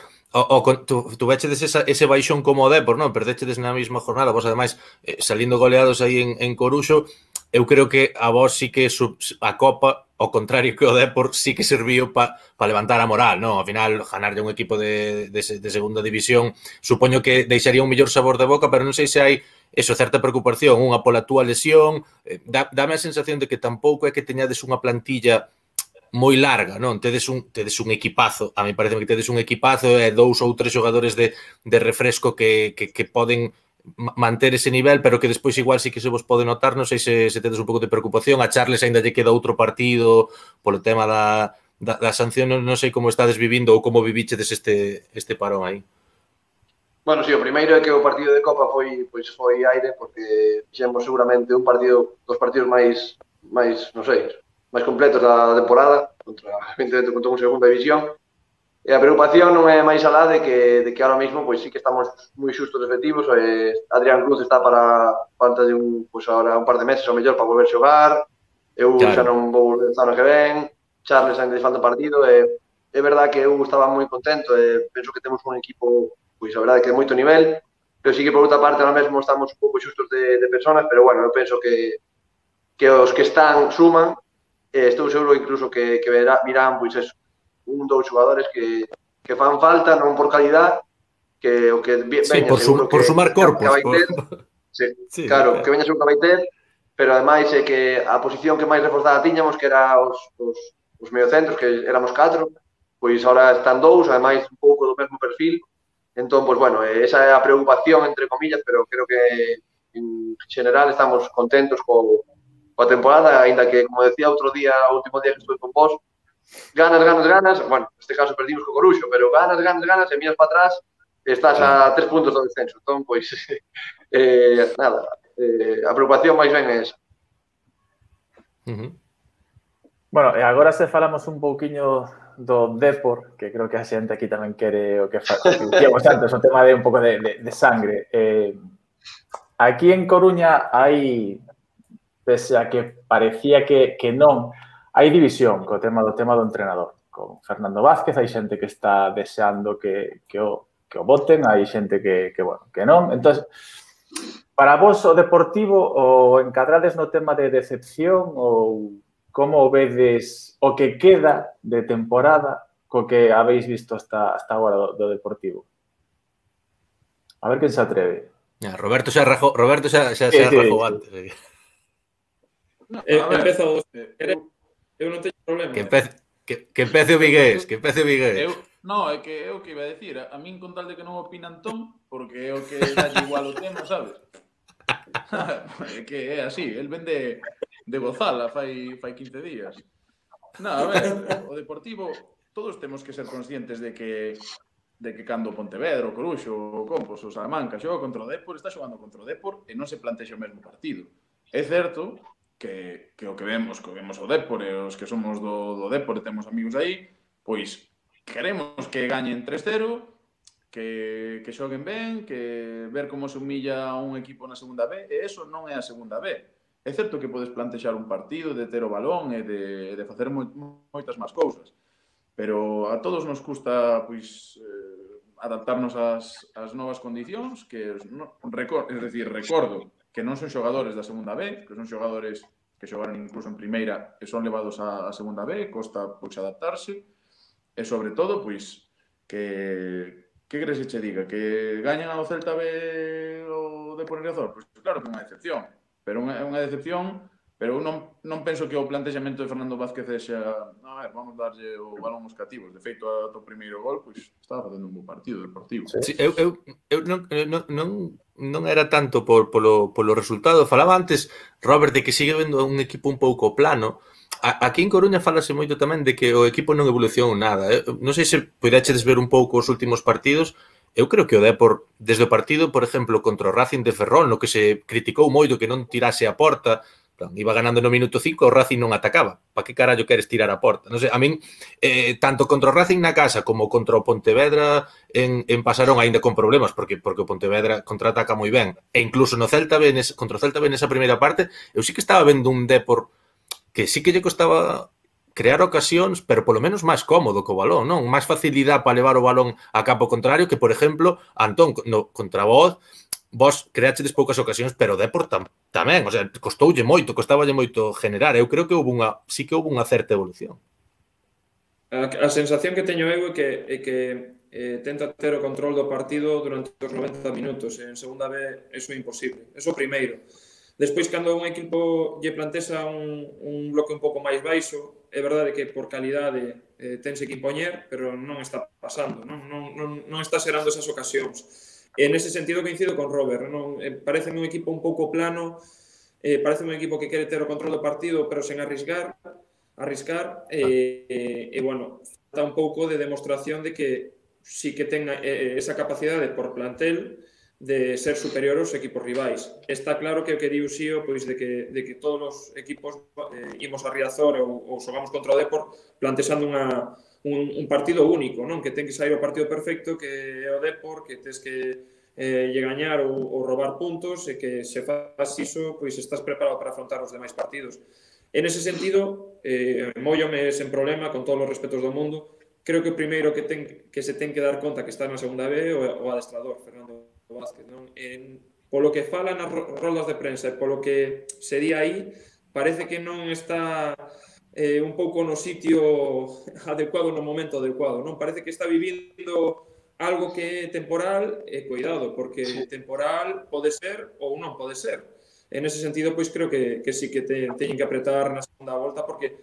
tu vechedes ese baixón como o Depor, non? Perdechedes na mesma jornada, vos ademais salindo goleados aí en Coruxo. Eu creo que a vos sí que a Copa, ao contrario que o Depor, sí que serviu para levantar a moral, non? Ao final, ganarlle un equipo de segunda división, supoño que deixaría un mellor sabor de boca, pero non sei se hai eso, certa preocupación, unha pola túa lesión. Dame a sensación de que tampouco é que teñades unha plantilla moi larga, non? Tedes un equipazo, a mí parece que tedes un equipazo e 2 ou 3 xogadores de refresco que poden manter ese nivel, pero que despois igual sí que se vos pode notar. Non sei se tedes un pouco de preocupación. A Charles ainda lle queda outro partido polo tema da sanción, non sei como estades vivindo ou como vivichedes este parón aí. Bueno, sí, o primeiro é que o partido de Copa foi aire, porque fixemos seguramente dos partidos máis, non sei, máis completos da temporada, evidentemente contra un segunda división. E a preocupación non é máis alá de que ahora mesmo pois sí que estamos moi xustos efectivos. Adrián Cruz está para ahora un par de meses ou mellor para volver a xogar. Eu xa non vou volver a ano que ven. Charles ainda falta partido. É verdade que eu estaba moi contento e penso que temos un equipo, pois a verdade que de moito nivel, pero sí que por outra parte ahora mesmo estamos un pouco xustos de personas, pero bueno, eu penso que os que están suman. Estou seguro incluso que virán pois eso, 1 ou 2 xogadores que fan falta, non por calidad, que o que veña seguro por sumar corpos. Sí, claro, que veña seguro que vai ter, pero ademais é que a posición que máis reforzada tiñamos, que era os mediocentros, que éramos 4, pois ahora están 2, ademais un pouco do mesmo perfil. Entón, pois bueno, esa é a preocupación, entre comillas, pero creo que en general estamos contentos coa temporada, aínda que, como decía outro día, o último día que estuve con vos, ganas, bueno, neste caso perdimos co Coruxo, pero ganas, e miras para atrás, estás a 3 puntos do descenso. Entón, pois, nada, a preocupación máis ben é esa. Bueno, e agora se falamos un pouquiño do Depor, que creo que a xente aquí tamén quere o que dicíamos antes, o tema de un pouco de sangre. Aquí en Coruña hai, pese a que parecía que non, hai división co tema do entrenador. Con Fernando Vázquez hai xente que está deseando que o voten, hai xente que non. Entón, para vos o Deportivo o encadrades no tema de decepción ou como vedes o que queda de temporada co que habéis visto hasta agora do Deportivo? A ver quen se atreve. Roberto xa rajou antes. Empezo... Eu non teño problema. Que empece o Vigués, No, é que é o que iba a decir. A min con tal de que non opina Antón, porque é o que dá igual o tema, sabes? É que é así, el vende de gozala fai 15 días. No, a ver, o Deportivo, todos temos que ser conscientes de que cando Pontevedra, o Coruxo, o Compos, o Salamanca xoga contra o Depor, está xogando contra o Depor e non se plantexa o mesmo partido. É certo que o que vemos o Depor e os que somos do Depor e temos amigos aí, pois queremos que gañen 3-0, que xoguen ben, que ver como se humilla a un equipo na segunda B, e eso non é a segunda B. É certo que podes plantexar un partido de ter o balón e de facer moitas máis cousas, pero a todos nos custa pois adaptarnos ás novas condicións, que recordo que non son xogadores da segunda B, que son xogadores que xogaron incluso en primeira e son levados á segunda B, costa pois adaptarse, e sobre todo pois que queres que che diga? Que gañan ao Celta B o Depor Riazor? Pois claro que é unha decepción, pero é unha decepción, pero eu non penso que o plantexamento de Fernando Vázquez sexa vamos darlle o balón aos cativos. De feito, ao primeiro gol, pois estaba facendo un bo partido Deportivo. Sí, eu non era tanto polo resultado. Falaba antes, Robert, de que sigue vendo un equipo un pouco plano. Aquí en Coruña falase moito tamén de que o equipo non evolucionou nada. Non sei se poderedes ver un pouco os últimos partidos. Eu creo que o Depor, desde o partido, por exemplo, contra o Racing de Ferrol, no que se criticou moito que non tirase a porta, iba ganando no minuto 5, o Racing non atacaba. Pa que carallo queres tirar a porta? Non sei, a min, tanto contra o Racing na casa como contra o Pontevedra en Pasarón, aínda con problemas, porque o Pontevedra contraataca moi ben, e incluso no Celta B, contra o Celta B nesa primeira parte, eu sí que estaba vendo un Depor que sí que lle costaba crear ocasións, pero polo menos máis cómodo co balón, non? Máis facilidade para levar o balón a campo contrario que, por exemplo, Antón, contra vos creachedes poucas ocasións, pero o Depor tamén, o sea, costaballe moito generar. Eu creo que sí que houve unha certa evolución. A sensación que teño eu é que tenta ter o control do partido durante os 90 minutos. En segunda B, eso é imposible. Eso primeiro. Despois, cando un equipo lle plantexa un bloque un pouco máis baixo, é verdade que por calidade tense que impoñer, pero non está pasando, non está xerando esas ocasións. En ese sentido coincido con Robert, parece un equipo un pouco plano, parece un equipo que quere ter o control do partido, pero sen arriscar, e bueno, falta un pouco de demostración de que sí que ten esa capacidade por plantel de ser superior aos equipos rivais. Está claro que o que di Uxío, pois de que todos os equipos imos a Riazor ou xogamos contra o Depor plantexando un partido único, non? Que ten que sair o partido perfecto, que é o Depor, que tes que lle gañar ou roubar puntos, e que se faz iso, pois estás preparado para afrontar os demais partidos. En ese sentido, móllome sen problema, con todos os respetos do mundo, creo que o primeiro que se ten que dar conta que está na segunda B o adestrador, Fernando Vázquez, non? Polo que fala nas roldas de prensa e polo que se di aí, parece que non está un pouco no sitio adecuado no momento adecuado, non? Parece que está vivindo algo que é temporal e cuidado, porque temporal pode ser ou non pode ser. En ese sentido, pois creo que sí que teñen que apretar na segunda volta, porque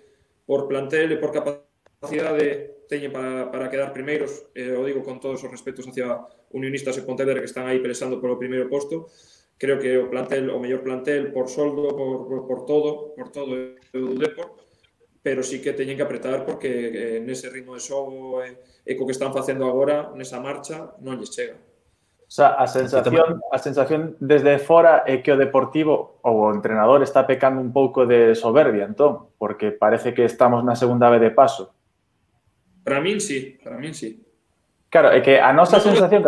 por plantel e por capacidade teñen para quedar primeiros, o digo con todos os respetos hacia Unionistas e Pontevedra que están aí pelexando polo primeiro posto. Creo que o mellor plantel por soldo, por todo o Depor, pero sí que teñen que apretar porque nese ritmo de xogo e co que están facendo agora, nesa marcha, non lles chega. O sea, a sensación desde fora é que o Deportivo ou o entrenador está pecando un pouco de soberbia, entón, porque parece que estamos na segunda vez de paso. Para min sí. Claro, é que a nosa sensación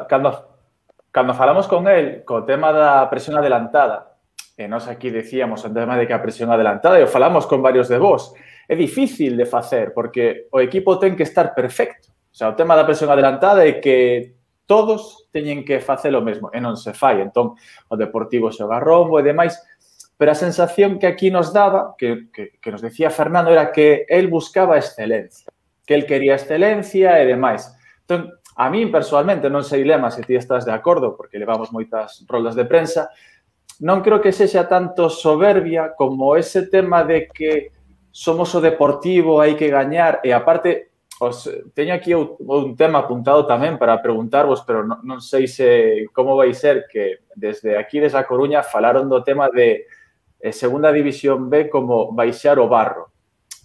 cando falamos con el co tema da presión adelantada, e nós aquí decíamos o tema de que a presión adelantada, e falamos con varios de vos, é difícil de facer, porque o equipo ten que estar perfecto. O sea, o tema da presión adelantada é que todos teñen que facer o mesmo, e non se fai. Entón, o Deportivo xoga rombo e demais, pero a sensación que aquí nos daba, que nos decía Fernando, era que él buscaba excelencia, que él quería excelencia e demais. Entón, a mí, personalmente, non sei, Lema, se ti estás de acordo, porque levamos moitas roldas de prensa, non creo que sexa tanto soberbia como ese tema de que somos o Deportivo, hai que gañar, e aparte, teño aquí un tema apuntado tamén para preguntarvos, pero non sei se como vai ser, que desde aquí, desde A Coruña, falaron do tema de Segunda División B como baixar o barro.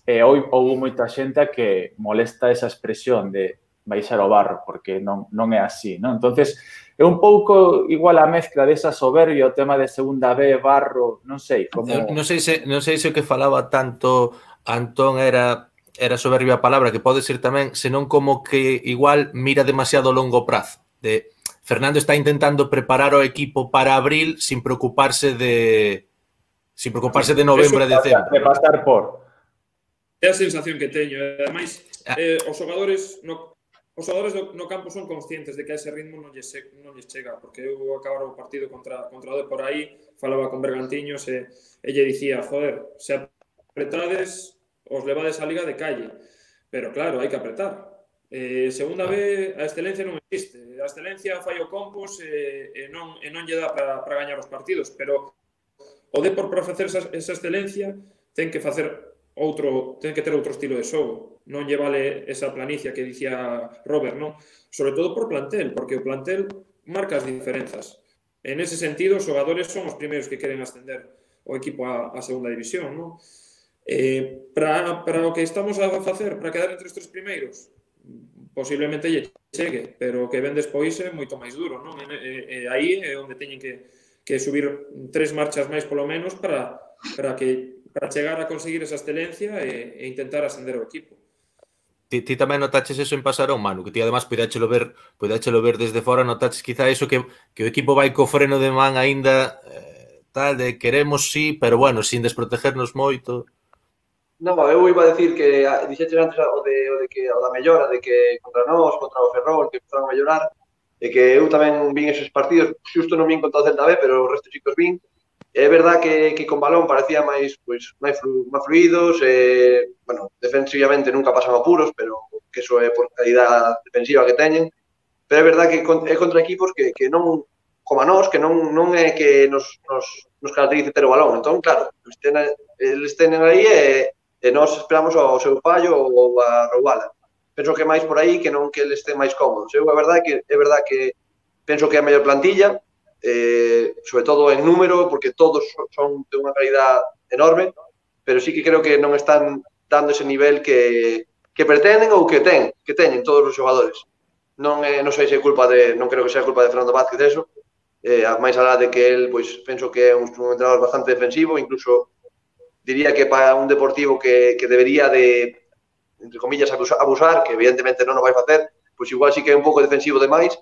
E houve moita xente que molesta esa expresión de baixar o barro, porque non é así, non? Entonces, é un pouco igual a mezcla desa soberbia, o tema de Segunda B, barro, non sei. Non sei se o que falaba tanto Antón era soberbia a palabra, que pode ser tamén, senón como que igual mira demasiado a longo prazo. Fernando está intentando preparar o equipo para abril sin preocuparse de novembro e decembro. De pasar por... É a sensación que teño. Ademais, os xogadores no campo son conscientes de que a ese ritmo non lles chega, porque eu acabara o partido contra o Depor aí, falaba con Bergantiños e lle dicía, joder, se apretades, os levades a liga de calle. Pero claro, hai que apretar. Segunda vez, a excelencia non existe. A excelencia fai o Compos e non lle dá para gañar os partidos, pero o Depor, para facer esa excelencia, ten que ter outro estilo de xogo. Non lle vale esa planicia que dicía Robert, non? Sobre todo por plantel, porque o plantel marca as diferenzas. En ese sentido, os xogadores son os primeiros que queren ascender o equipo a segunda división, non? Para o que estamos a facer, para quedar entre os tres primeiros, posiblemente lle chegue, pero o que ven despois é moito máis duro, non? Aí é onde teñen que subir 3 marchas máis polo menos para chegar a conseguir esa excelencia e intentar ascender o equipo. Ti tamén notaches eso en Pasarón, Manu, que ti además poidéchelo ver desde fora, notaches quizá eso que o equipo vai co freno de man aínda tal, de queremos sí, pero bueno, sin desprotegernos moito. Non, eu iba a decir que dixeches antes o da mellora, de que contra nós, contra o Ferrol, que empezaron a mellorar, e que eu tamén vin esos partidos, xusto non vin contra o Celta B, pero o resto chicos vin. É verdad que con balón parecía máis fluidos, bueno, defensivamente nunca pasan apuros, pero que eso é por calidad defensiva que teñen. Pero é verdad que é contra equipos que non, como a nós, que non é que nos caracterice ter o balón. Entón, claro, eles tenen aí e nós esperamos ao seu fallo ou a roubala. Penso que máis por aí que non que eles estén máis cómodos. É verdad que penso que é a mellor plantilla, sobre todo en número, porque todos son de unha calidad enorme, pero sí que creo que non están dando ese nivel que pretenden ou que teñen todos os xogadores. Non sei se é culpa non creo que sea culpa de Fernando Vázquez eso, máis alá de que el, pois, penso que é un entrenador bastante defensivo, incluso diría que para un Deportivo que debería de, entre comillas, abusar, que evidentemente non o vai facer, pois igual sí que é un pouco defensivo demais,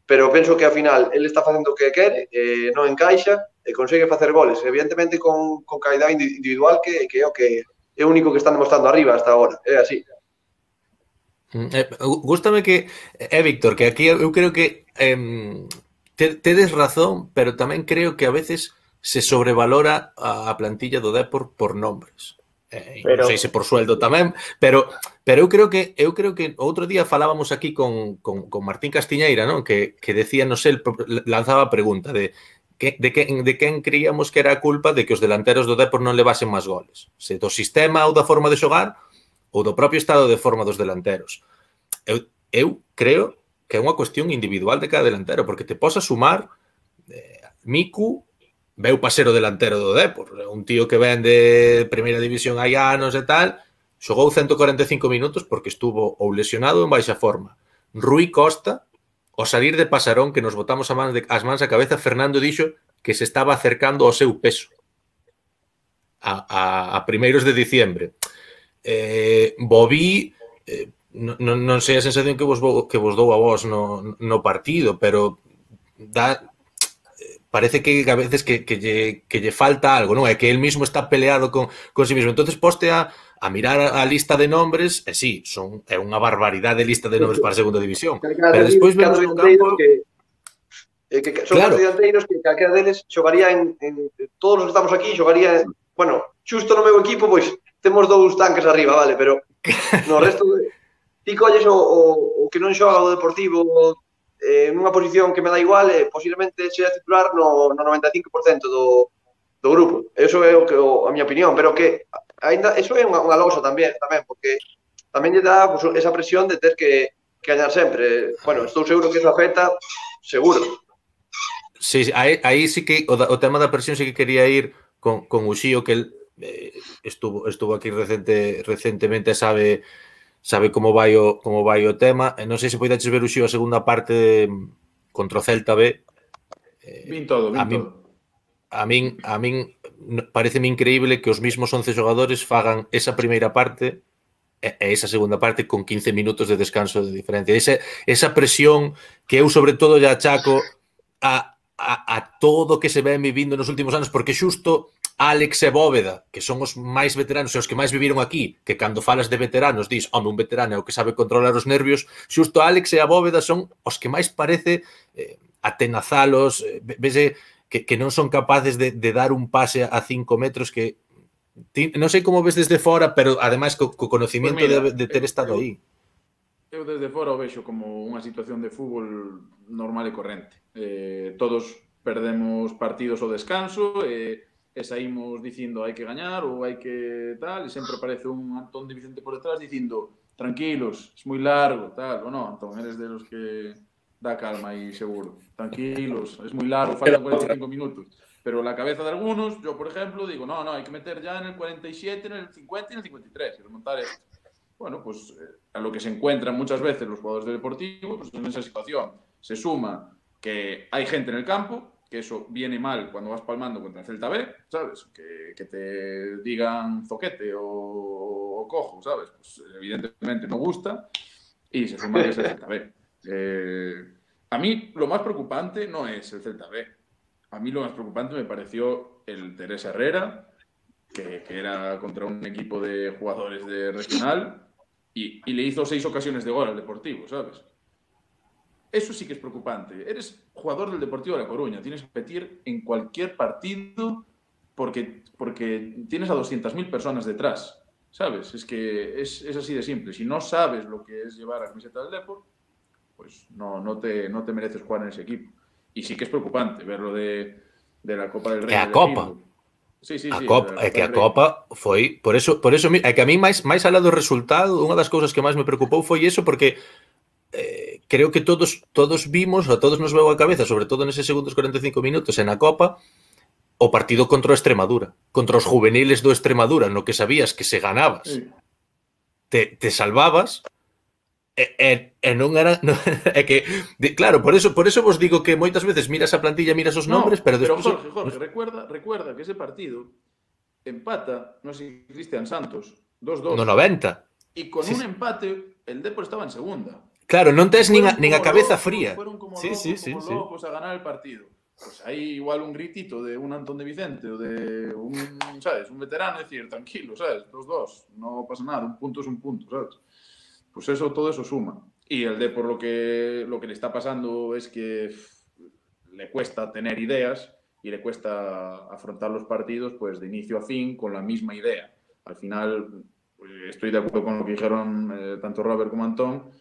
pero penso que ao final ele está facendo o que quere, non encaixa e consegue facer goles, evidentemente con calidad individual que é o que é o único que están demostrando arriba hasta agora, é así. Gústame que, Víctor, que aquí eu creo que tedes razón, pero tamén creo que a veces se sobrevalora a plantilla do Depor por nombres. Non sei se por sueldo tamén, pero eu creo que outro día falábamos aquí con Martín Castiñeira, non? Que decía, non sei, lanzaba a pregunta de quen creíamos que era a culpa de que os delanteros do Depor non levasen máis goles. Se do sistema ou da forma de xogar ou do propio estado de forma dos delanteros. Eu creo que é unha cuestión individual de cada delantero, porque te posa sumar Miku, veu para ser o delantero do Depor, un tío que ven de primeira división hai anos e tal, xogou 145 minutos porque estuvo ou lesionado ou en baixa forma. Rui Costa, ao salir de Pasarón, que nos botamos as mans á cabeza, Fernando dixo que se estaba acercando ao seu peso a primeiros de diciembre. Bobí, non sei a sensación que vos dou a vos no partido, pero parece que a veces que lle falta algo, non? É que el mismo está peleado con sí mismo. Entonces poste a a mirar a lista de nombres, e sí, é unha barbaridade de lista de nombres para a segunda división. Pero despois vemos no campo... que son claro. Dianteiros que calquera deles xogaría en todos os que estamos aquí xogaría, bueno, xusto no meu equipo pois temos 2 tanques arriba, vale, pero no resto ti colles o que non xoga o Deportivo nunha posición que me dá igual, posiblemente sea titular no 95% do grupo. Eso é a miña opinión, pero que ainda eso é unha losa tamén, porque tamén lle dá pues, esa presión de ter que gañar sempre. Bueno, estou seguro que eso afecta, seguro. Sí, aí sí que o tema da presión sí que quería ir con Uxío, que el estuvo aquí recentemente, sabe como vai o tema. Non sei se poidaches ver, Uxío, a segunda parte contra o Celta B. Vin todo. A min pareceme increíble que os mismos 11 xogadores fagan esa primeira parte e esa segunda parte con 15 minutos de descanso de diferencia. Esa presión que eu sobre todo lle achaco a todo que se ven vivindo nos últimos anos, porque xusto Álex e Bóveda, que son os máis veteranos e os que máis viviron aquí, que cando falas de veteranos dis, home, un veterano é o que sabe controlar os nervios, xusto Álex e a Bóveda son os que máis parece atenazalos, vese que non son capaces de dar un pase a 5 metros que non sei como ves desde fora, pero ademais co conocimiento de ter estado aí. Eu desde fora o vexo como unha situación de fútbol normal e corrente. Todos perdemos partidos ao descanso e saímos dicindo hai que gañar ou hai que tal, e sempre aparece un Antón de Vicente por detrás dicindo tranquilos, es moi largo, tal, ou non, Antón, eres de los que dá calma aí, seguro. Tranquilos, es moi largo, faltan 45 minutos. Pero la cabeza de algunos, yo por ejemplo, digo, no, hay que meter ya en el 47, en el 50 y en el 53 y remontar esto. Bueno, pues a lo que se encuentran muchas veces los jugadores del Deportivo, pues en esa situación se suma que hay gente en el campo, que eso viene mal cuando vas palmando contra el Celta B, ¿sabes? Que te digan zoquete o cojo, ¿sabes? Pues evidentemente no gusta y se suma que es el Celta B. A mí lo más preocupante no es el Celta B. A mí lo más preocupante me pareció el Teresa Herrera, que era contra un equipo de jugadores de regional y le hizo 6 ocasiones de gol al Deportivo, ¿sabes? Eso sí que es preocupante. Eres jugador del Deportivo de La Coruña, tienes que competir en cualquier partido porque tienes a 200.000 personas detrás, ¿sabes? Es que es así de simple. Si no sabes lo que es llevar a camiseta del Depor, pues no te mereces jugar en ese equipo. Y sí que es preocupante verlo de la Copa del Rei. A Copa. Sí. É que a Copa foi... Por eso é que a mí máis alá do resultado, unha das cousas que máis me preocupou foi eso, porque creo que todos vimos, a todos nos veu a cabeza, sobre todo neses segundos 45 minutos en a Copa, o partido contra o Extremadura, contra os juveniles do Extremadura, no que sabías que se ganabas, te salvabas, e non era... É que, claro, por eso vos digo que moitas veces miras a plantilla, miras os nombres, pero despois... Pero Jorge, recuerda que ese partido empata, non sei, Cristian Santos, 2-2. No 90. E con un empate, el Depor estaba en segunda. Claro, non tes nin a cabeza fría. Fueron como locos a ganar el partido. Pues hay igual un gritito de un Antón de Vicente o de un, ¿sabes? Un veterano, decir, tranquilo, ¿sabes? 2-2, no pasa nada, un punto es un punto, ¿sabes? Pues todo eso suma. Y el Depor lo que le está pasando es que le cuesta tener ideas y le cuesta afrontar los partidos pues de inicio a fin con la misma idea. Al final, pues, estoy de acuerdo con lo que dijeron tanto Robert como Antón.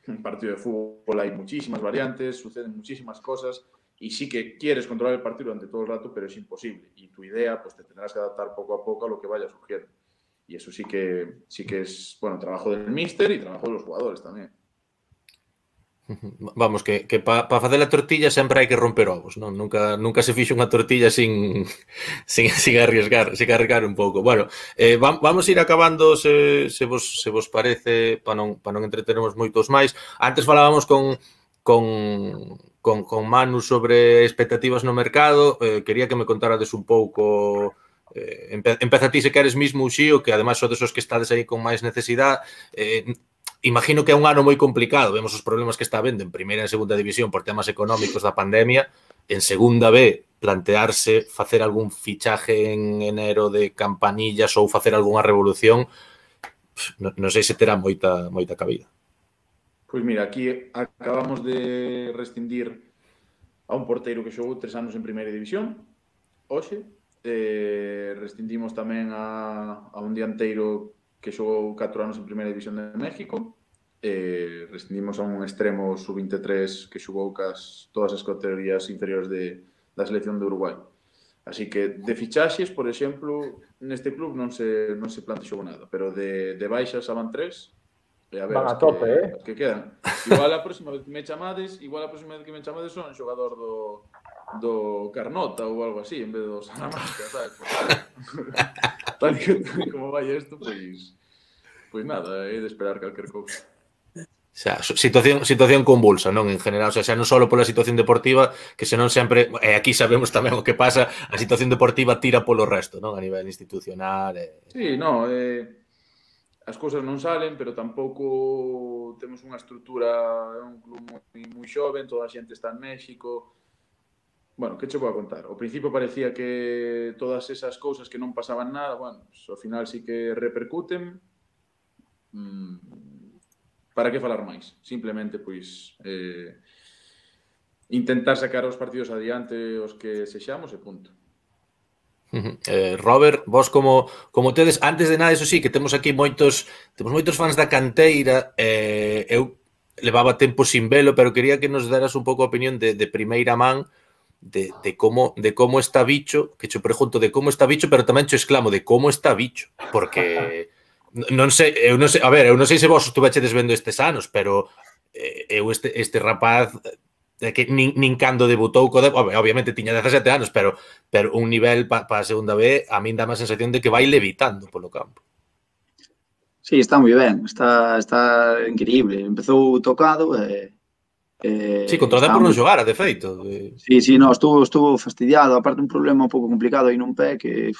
En un partido de fútbol hay muchísimas variantes, suceden muchísimas cosas y sí que quieres controlar el partido durante todo el rato, pero es imposible. Y tu idea, pues te tendrás que adaptar poco a poco a lo que vaya surgiendo. Y eso sí que es, bueno, trabajo del míster y trabajo de los jugadores tamén. Vamos, que para facer a tortilla sempre hai que romper ovos, non? Nunca se fixo unha tortilla sin arriesgar un pouco. Bueno, vamos ir acabando se vos parece, para non entretermos moitos máis. Antes falábamos con Manu sobre expectativas no mercado. Quería que me contarades un pouco... Empeza ti se queres mismo, Uxío, que ademais sodes os que estades aí con máis necesidade. Imagino que é un ano moi complicado, vemos os problemas que está habendo en primeira e segunda división por temas económicos da pandemia, en segunda B plantearse facer algún fichaje en enero de campanillas ou facer algunha revolución, non sei se terá moita cabida. Pois mira, aquí acabamos de rescindir a un porteiro que xogou 3 anos en primeira división, hoxe. Rescindimos tamén a un dianteiro que xogou 4 anos en primeira división de México. Rescindimos a un extremo sub-23 que xogou todas as categorías inferiores da selección de Uruguai. Así que de fichaxes, por exemplo, neste club non se plantexou nada, pero de baixas van 3. A ver, van a tope, que quedan. Igual a próxima vez que me chamades son xogador do Carnota ou algo así, en vez do Salamanca, sabes? Tal como vai isto, pois nada, é de esperar calquer cousa. O sea, situación convulsa, non? En general, o sea, xa non só pola situación deportiva, que senón sempre, e aquí sabemos tamén o que pasa, a situación deportiva tira polo resto, non? A nivel institucional. Sí, non, as cousas non salen, pero tampouco temos unha estrutura, é un club moi xoven, toda a xente está en México. Bueno, que che vou a contar? Ao principio parecía que todas esas cousas que non pasaban nada, bueno, ao final sí que repercuten. Para que falar máis? Simplemente, pois, intentar sacar os partidos adiante os que sexamos e punto. Robert, vos como tedes, antes de nada, eso sí, que temos aquí moitos fans da canteira, eu levaba tempo sin velo, pero quería que nos deras un pouco a opinión de primeira man de como está Bicho, que che pregunto de como está Bicho, pero tamén che exclamo de como está Bicho, porque non sei, a ver, eu non sei se vos estuvechedes vendo estes anos, pero eu este rapaz que nin cando debutou obviamente tiña 17 anos, pero un nivel para a segunda B a min dá má sensación de que vai levitando polo campo. Sí, está moi ben, está increíble. Empezou tocado Sí, contra o Depor non xogara, de feito. Sí, no, estuvo fastidiado, aparte un problema un pouco complicado aí nun pé que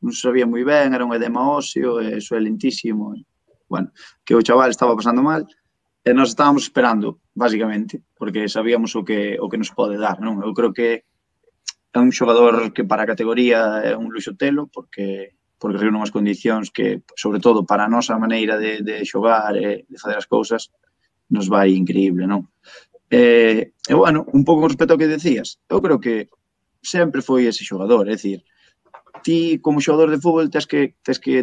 non se sabía moi ben, era un edema óseo, eso é lentísimo. Bueno, que o chaval estaba pasando mal. E nós estábamos esperando, basicamente, porque sabíamos o que nos pode dar, non? Eu creo que é un xogador que para a categoría é un luxo telo, porque reúne unhas condicións que, sobre todo, para a nosa maneira de xogar e de fazer as cousas, nos vai increíble, non? E, bueno, un pouco con respecto ao que decías, eu creo que sempre foi ese xogador, é dicir, ti, como xogador de fútbol, tes que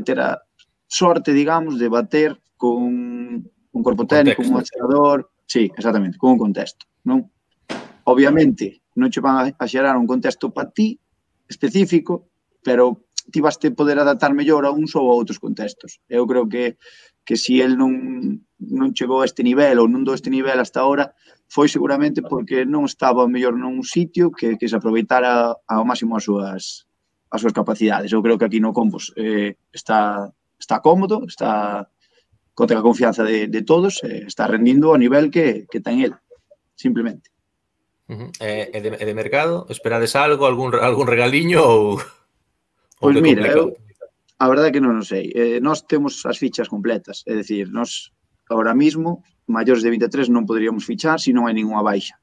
ter a sorte, digamos, de bater con un corpo técnico, un adestrador, sí, exactamente, con un contexto, non? Obviamente, non che van a xerar un contexto para ti específico, pero ti vas te poder adaptar mellor a uns ou a outros contextos. Eu creo que se el non chegou a este nivel ou non do este nivel hasta ahora, foi seguramente porque non estaba mellor nun sitio que se aproveitara ao máximo as súas capacidades. Eu creo que aquí no Compos está cómodo, está contra a confianza de todos, está rendindo ao nivel que ten el, simplemente. E de mercado, esperades algo, algún regaliño ou pois mira, a verdade é que non o sei. Nós temos as fichas completas, é dicir, nós ahora mismo, maiores de 23 non poderíamos fichar se non hai ninguna baixa.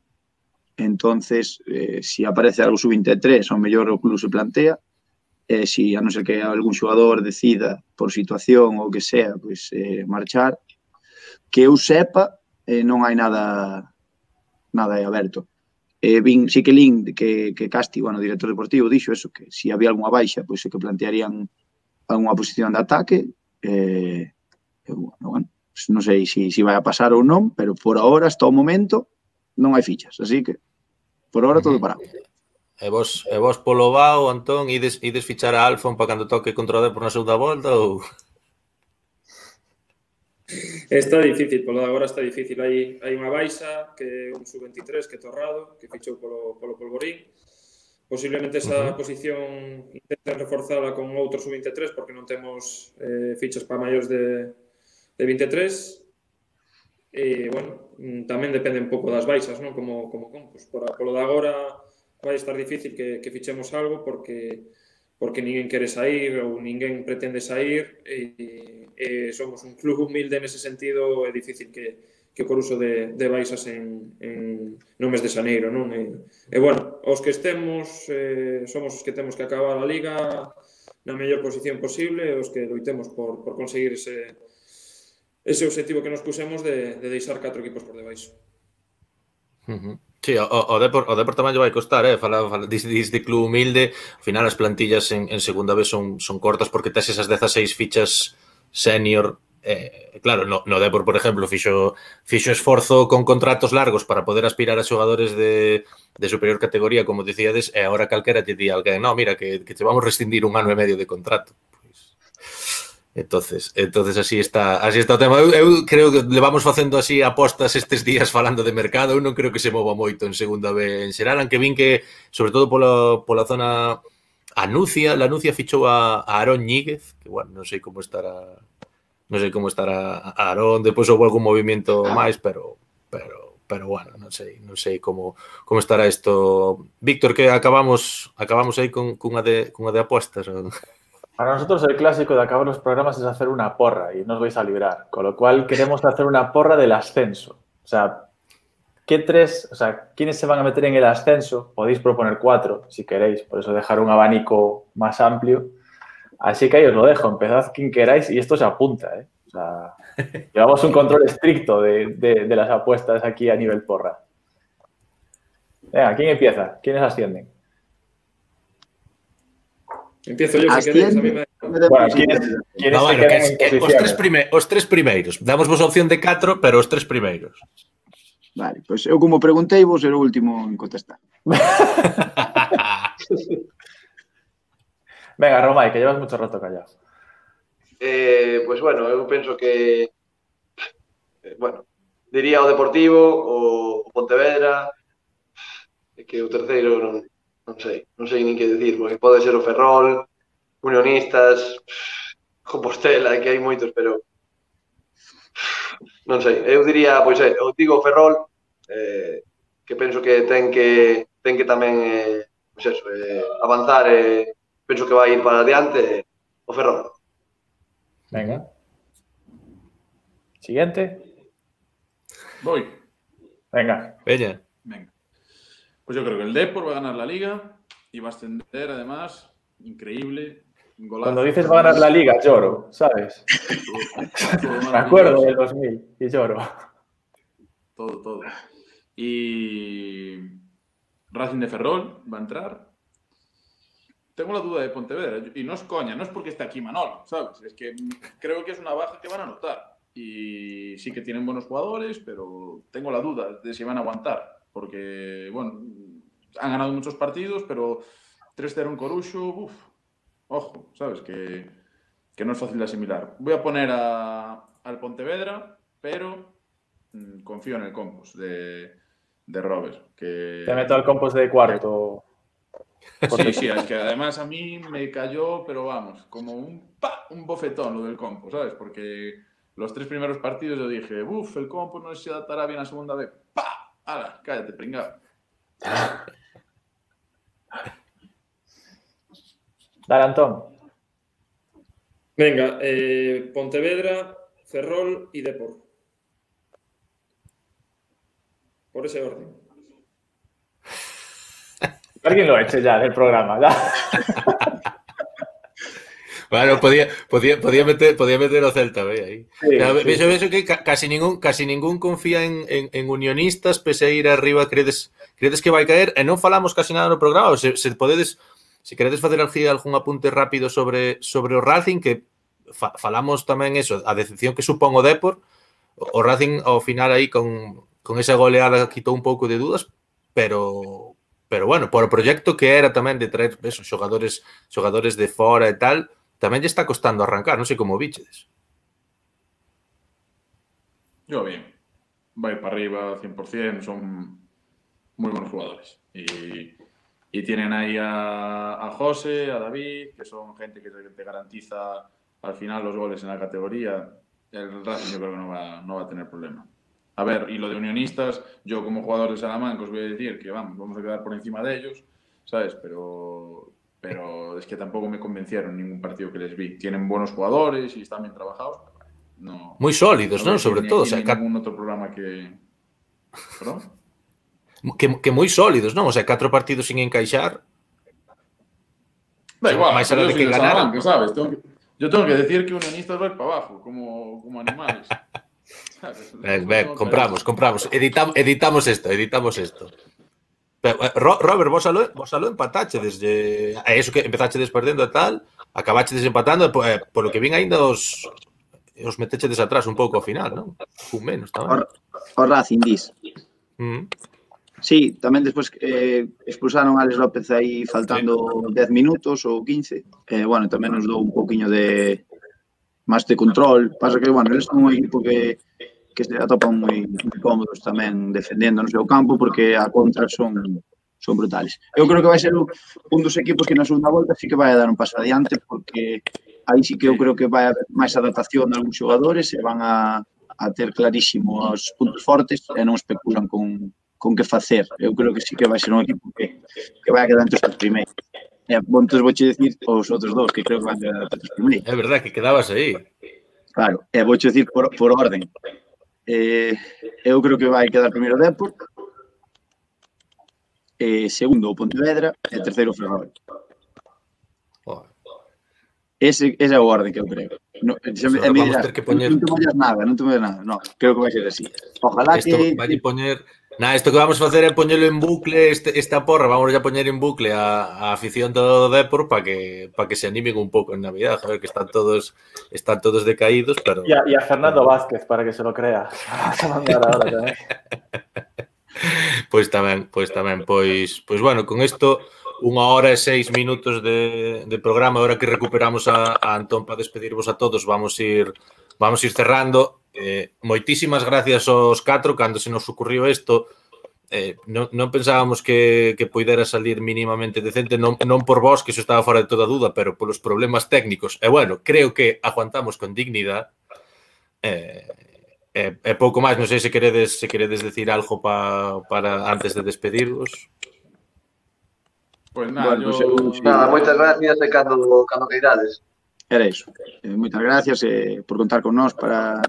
Entonces, se aparece algo sub-23, ao mellor o club se plantea, si a non ser que algún xogador decida por situación ou que sea, pois marchar, que eu sepa, non hai nada aberto. Sí que Lin, que Casti, bueno, director deportivo, dixo eso, que se había algunha baixa, pois é que plantearían algunha posición de ataque, bueno, non sei se vai a pasar ou non, pero por ahora, hasta o momento, non hai fichas, así que por ahora todo parado. E vos polo Bao, Antón, ides fichar a Alfon para cando toque contra o Depor na segunda volta ou...? Está difícil, polo de agora está difícil. Hai unha baixa que é un sub-23 que é Torrado, que fichou polo Polvorín. Posiblemente esa posición intenten reforzala con outro sub-23 porque non temos fichas para maiores de 23. E, bueno, tamén depende un pouco das baixas, non? Como Compos. Polo de agora vai estar difícil que fichemos algo porque ninguén quere sair ou ninguén pretende sair e somos un club humilde nese sentido, é difícil que por uso de baixas no mes de xaneiro, non? E bueno, os que estemos somos os que temos que acabar a Liga na mellor posición posible, os que loitemos por conseguir ese objetivo que nos pusemos de deixar 4 equipos por debaixo. Sí, o Depor tamén lle vai costar, Dis de club humilde, ao final as plantillas en segunda vez son cortas porque tes esas 16 fichas senior. Claro, no Depor, por exemplo, fixo esforzo con contratos largos para poder aspirar a xogadores de superior categoría, como dicíades, e agora calquera te di alguén, no, mira, que te vamos rescindir 1 ano e medio de contrato. Entonces así está o tema. Eu creo que levamos facendo así apostas estes días falando de mercado. Eu non creo que se mova moito en segunda B en xeral, aunque vin que, sobre todo pola zona la Nucia fichou a Aarón Ñíguez, que bueno, non sei como estará Aarón, depois houve algún movimento máis, pero bueno, non sei como estará isto. Víctor, que acabamos aí cunha de apostas. Para nosotros el clásico de acabar los programas es hacer una porra y no os vais a librar. Con lo cual queremos hacer una porra del ascenso. O sea, ¿quiénes se van a meter en el ascenso? Podéis proponer 4 si queréis, por eso dejar un abanico más amplio. Así que ahí os lo dejo, empezad quien queráis y esto se apunta, ¿eh? O sea, llevamos un control estricto de las apuestas aquí a nivel porra. Venga, ¿quién empieza? ¿Quiénes ascienden? Empiezo yo, si queréis. A mí me... Bueno, ¿quiénes se quedan en posiciones? Os 3 primeiros. Damos vos a opción de 4, pero os 3 primeiros. Vale, pois eu como preguntei, vos ser o último en contestar. Venga, Romay, que llevas mucho rato callado. Pues bueno, eu penso que diría o Deportivo, o Pontevedra, que o terceiro non sei nin que dicir, porque pode ser o Ferrol, Unionistas, Compostela, que hai moitos, pero non sei, eu diría, pois eu digo o Ferrol, que penso que ten que tamén avanzar, penso que vai ir para adiante, o Ferrol. Venga. Siguiente. Voy. Venga. Venga. Pues yo creo que el Depor va a ganar la Liga y va a ascender, además, increíble. Cuando dices va a ganar la Liga, lloro, ¿sabes? Me acuerdo del 2000 y lloro. Todo. Y Racing de Ferrol va a entrar. Tengo la duda de Pontevedra, y no es coña, no es porque esté aquí Manolo, ¿sabes? Es que creo que es una baja que van a notar. Y sí que tienen buenos jugadores, pero tengo la duda de si van a aguantar. Porque, bueno, han ganado muchos partidos, pero 3-0 en Coruxo, ojo, ¿sabes? Que no es fácil de asimilar. Voy a poner al Pontevedra, pero confío en el Compos de Robert. Que... Te meto al Compos de cuarto. Sí, es que además a mí me cayó, pero vamos, como un bofetón lo del Compos, ¿sabes? Porque los 3 primeros partidos yo dije, el Compos no se adaptará bien a segunda vez. ¡Pah! ¡Hala! Cállate, pringado. Dale, Antón. Venga, Pontevedra, Ferrol y Depor. Por ese orden. Alguien lo eche ya del programa, ¿ya? Bueno, podía meter o Celta, ve aí. Sí. Vexo que casi ningún confía en Unionistas, pese a ir arriba, credes que vai caer, e non falamos casi nada no programa, se queredes facer algún apunte rápido sobre o Racing, que falamos tamén eso, a decepción que supón o Depor, o Racing ao final aí con esa goleada quitou un pouco de dudas, pero bueno, por o proxecto que era tamén de traer esos xogadores de fora e tal, tamén lle está costando arrancar, non sei como bichedes. Yo bien, va a ir para arriba 100%, son muy buenos jugadores. Y tienen ahí a José, a David, que son gente que te garantiza al final los goles en la categoría. El Racing yo creo que no va a tener problema. A ver, y lo de Unionistas, yo como jugador de Salamanca os voy a decir que vamos a quedar por encima de ellos, ¿sabes? Pero es que tampoco me convencieron ningún partido que les vi. Tienen buenos jugadores y están bien trabajados. No, muy sólidos, ¿no? Sobre todo. O sea, ningún otro programa que... ¿Perdón? Que moi sólidos, non? O sea, 4 partidos sin encaixar. Da igual, máis alá de que ganaran, sabes? Yo tengo que decir que unionistas van para abajo, como animales. ¿Sabes? Ven, compramos. Editamos esto. Pero, Robert, vos aló empatache desde... Eso que empezachedes perdendo e tal, acabachedes empatando, por lo que vin ainda os metechedes atrás un pouco ao final, non? Un menos tamén. O Racing, dis. Sí, tamén despois expulsaron a Alex López aí faltando 10 minutos ou 15. Bueno, tamén nos dou un poquinho de máis de control. Pasa que, bueno, eles son un equipo que se atopan moi cómodos tamén defendendo no seu campo porque a contra son brutales. Eu creo que vai ser un dos equipos que na segunda volta sí que vai a dar un paso adiante porque aí sí que eu creo que vai haber máis adaptación de algúns xogadores e van a ter clarísimo os puntos fortes e non especulan con que facer. Eu creo que sí que vai ser un equipo que vai a quedar entre os primeiros. Entón vouche dicir os outros dos que creo que van a quedar entre os primeiros. É verdade que quedabas aí. Claro, e vouche dicir por orden. Eu creo que vai quedar primeiro o Depor, segundo o Pontevedra e terceiro o Ferrol. Ese é o orden que eu creo. Non te mollas nada. No, creo que vai ser así. Ojalá que... Isto que vamos a facer é poñelo en bucle, esta porra, vamos a poñer en bucle a afición do Depor para que se animen un pouco en Navidad, joder, que están todos decaídos, pero... Y a Fernando Vázquez, para que se lo crea. Vas a mandar ahora tamén. Pois tamén. Pois, bueno, con isto, 1 hora e 6 minutos de programa, ahora que recuperamos a Antón para despedirvos a todos, vamos ir cerrando. Moitísimas gracias aos 4 cando se nos ocurriu isto. Non pensábamos que poidera salir mínimamente decente, non por vos, que iso estaba fora de toda duda, pero polos problemas técnicos. E bueno, creo que aguantamos con dignidade. E pouco máis, non sei se queredes decir algo para antes de despedirvos. Pois nada, moitas gracias e cando queirades. Era iso. Moitas gracias por contar con nós para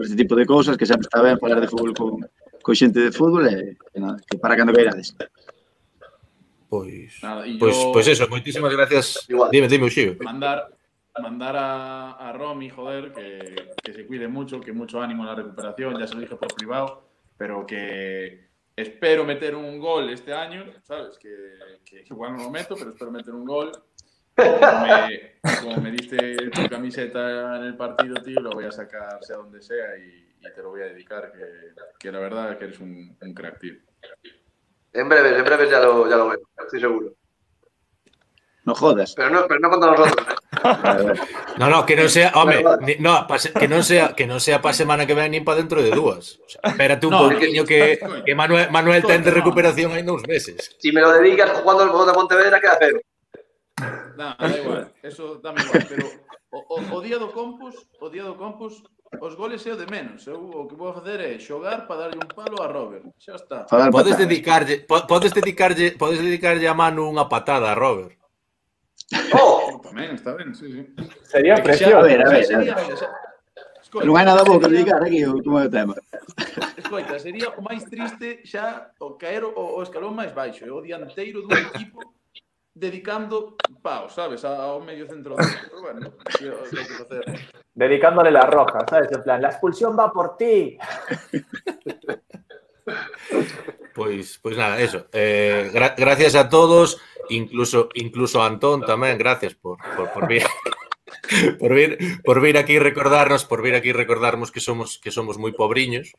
este tipo de cousas, que sempre está ben falar de fútbol con xente de fútbol e nada, que para cando queirades. Pois eso, moitísimas gracias. Dime, Uxío. Mandar a Romy, joder, que se cuide mucho, que mucho ánimo en la recuperación, ya se lo dije por privado, pero que espero meter un gol este año, ¿sabes? Que igual no lo meto, pero espero meter un gol. Como me diste tu camiseta en el partido, tío, lo voy a sacar sea donde sea y te lo voy a dedicar, que la verdad es que eres un crack, tío. En breves ya lo veo, estoy seguro. No jodas. Pero no contra nosotros. No, que non sea, home, que non sea para semana que ven nin para dentro de 2. O sea, espérate un pouquinho que Manuel ten de recuperación ainda uns meses. Si me lo dedicas jugando el Bogotá Pontevedra, queda feo. Da igual, eso dame igual, pero o día do Campus, os goles é o de menos. Eu o que vou facer é xogar para darlle un palo a Robert. Xa está. Podes dedicarlle a mano unha patada a Robert. Tamén está ben, sí. Sería precioso. A ver. Non hai nada bo que dedicar aquí como é o tema. Escoita, sería o máis triste xa o caer o escalón máis baixo, o dianteiro dun equipo dedicando paus, sabes, ao medio centro. Pero bueno, tío, hai que facer. Dedicándole la roja, ¿sabes? En plan, la expulsión va por ti. Pois nada, eso. Gracias a todos, incluso a Antón tamén, gracias por vir aquí recordarnos que somos moi pobriños,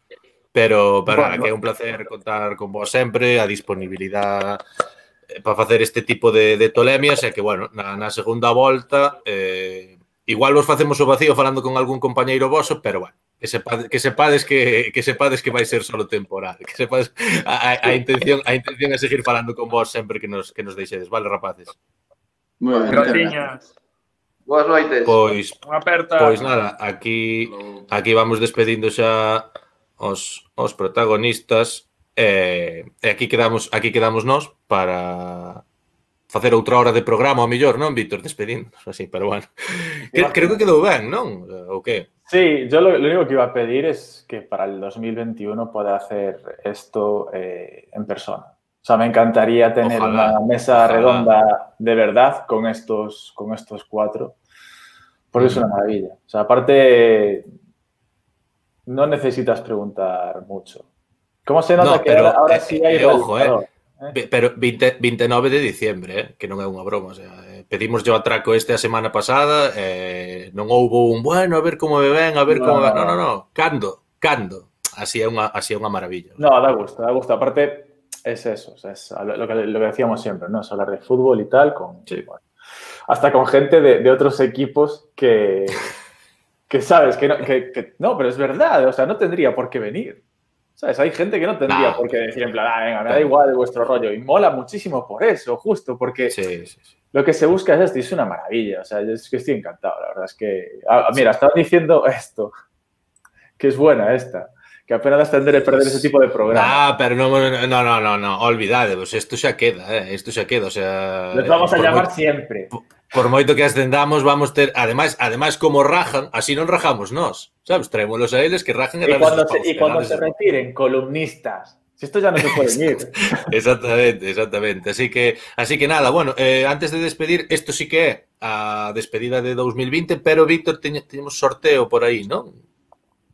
pero bueno, que é un placer contar con vos sempre, a disponibilidade para facer este tipo de tolemias e que, bueno, na segunda volta igual vos facemos o vacío falando con algún compañeiro voso, pero bueno, que sepades que vai ser solo temporal, que sepades a intención é seguir falando con vos sempre que nos deixedes, vale, rapaces? Moi ben, gracias. Boas noites. Pois nada, aquí vamos despedindo xa os protagonistas e aquí quedamos nós para facer outra hora de programa, ao mellor, non, Víctor? Despedindos, así, pero bueno. Creo que quedou ben, non? ¿O qué? Sí, yo lo único que iba a pedir es que para el 2021 pueda hacer esto en persona. O sea, me encantaría tener una mesa redonda de verdad con estos 4, Porque es una maravilla. O sea, aparte, no necesitas preguntar mucho. ¿Cómo se nota que ahora sí hai ojo, pero 29 de diciembre, que non é unha broma, o sea, pedimos yo atraco a semana pasada, non houbo un bueno, a ver como me ven, a ver como me ven. No, cando. Así é unha maravilla. No, da gusto. Aparte, es eso, o sea, es lo que decíamos siempre, ¿no? Es hablar de fútbol y tal, bueno, hasta con gente de otros equipos que sabes, que no, pero es verdad, o sea, no tendría por qué venir. ¿Sabes? Hay gente que no tendría por qué decir en plan, venga, me da igual vuestro rollo. Y mola muchísimo por eso, justo, porque lo que se busca es esto y es una maravilla. O sea, es que estoy encantado, la verdad es que... mira, estaban diciendo esto, que es buena esta, que apenas tendré perder ese tipo de programa. Pero no, olvidade, pues esto xa queda, o sea... Les vamos a llamar siempre. Por moito que ascendamos, vamos ter... Ademais, como rajan, así non rajamos nós, sabes? Traémolos a eles que rajen y cuando se retiren, columnistas. Si esto ya no se puede ir. Exactamente. Así que nada, bueno, antes de despedir, esto sí que é a despedida de 2020, pero, Víctor, teñemos sorteo por aí, non?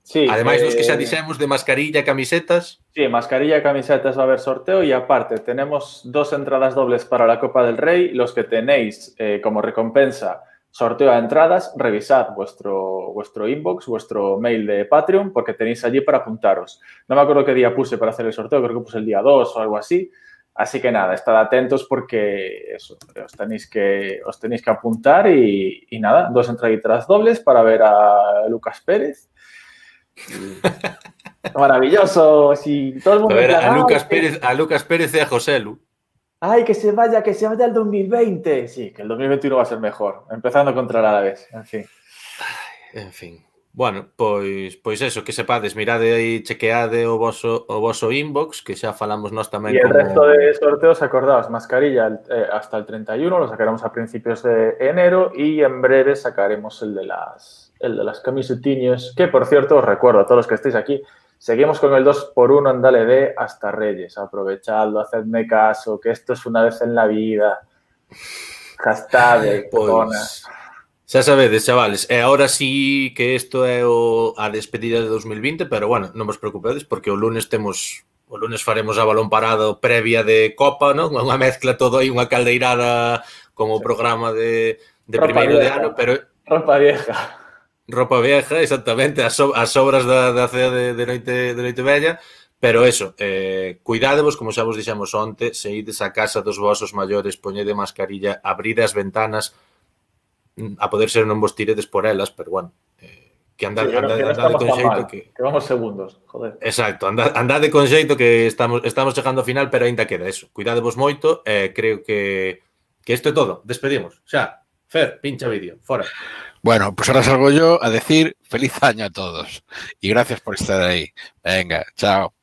Sí. Ademais, nos que xa dixemos de mascarilla, camisetas. Sí, mascarilla, camisetas va a haber sorteo y aparte tenemos 2 entradas dobles para la Copa del Rey. Los que tenéis como recompensa sorteo a entradas, revisad vuestro inbox, vuestro mail de Patreon, porque tenéis allí para apuntaros. No me acuerdo qué día puse para hacer el sorteo, creo que puse el día 2 o algo así. Así que nada, estad atentos porque eso, os tenéis que apuntar y nada, 2 entraditas dobles para ver a Lucas Pérez. Maravilloso. Si todo el mundo a Lucas Pérez y a José Lu. Ay, que se vaya el 2020. Sí, que el 2021 va a ser mejor, empezando contra el Alavés, en fin. Bueno, pois eso, que sepades, mirade aí, chequeade o voso inbox, que xa falamos nós tamén. E el resto de sorteos, acordaos, mascarilla hasta el 31, lo sacaremos a principios de enero y en breve sacaremos el de las camisetiñas, que por cierto, os recuerdo a todos los que estéis aquí, seguimos con el 2x1 en Dale D hasta Reyes. Aprovechadlo, hacedme caso, que esto es una vez en la vida. Hashtag, pues, xa sabedes, chavales, e agora sí que isto é a despedida de 2020, pero bueno, non vos preocupedes porque o lunes faremos a balón parado previa de Copa, non? Unha mezcla todo aí, unha caldeirada como programa de primeiro de ano, pero... Ropa vieja, exactamente, as obras da cea de noite vella, pero eso, cuidadevos, como xa vos dixemos onte, se ides a casa dos vosos maiores, poñede mascarilla, abride as ventanas, a poder ser non vos tiredes por elas, pero bueno, que andade con xeito que vamos segundos, joder. Exacto, andade con xeito que estamos chegando ao final, pero aínda queda eso. Cuidadevos moito, creo que isto é todo. Despedimos. Xa, Fer, pincha vídeo, fora. Bueno, pues ahora salgo yo a decir feliz año a todos y gracias por estar ahí. Venga, chao.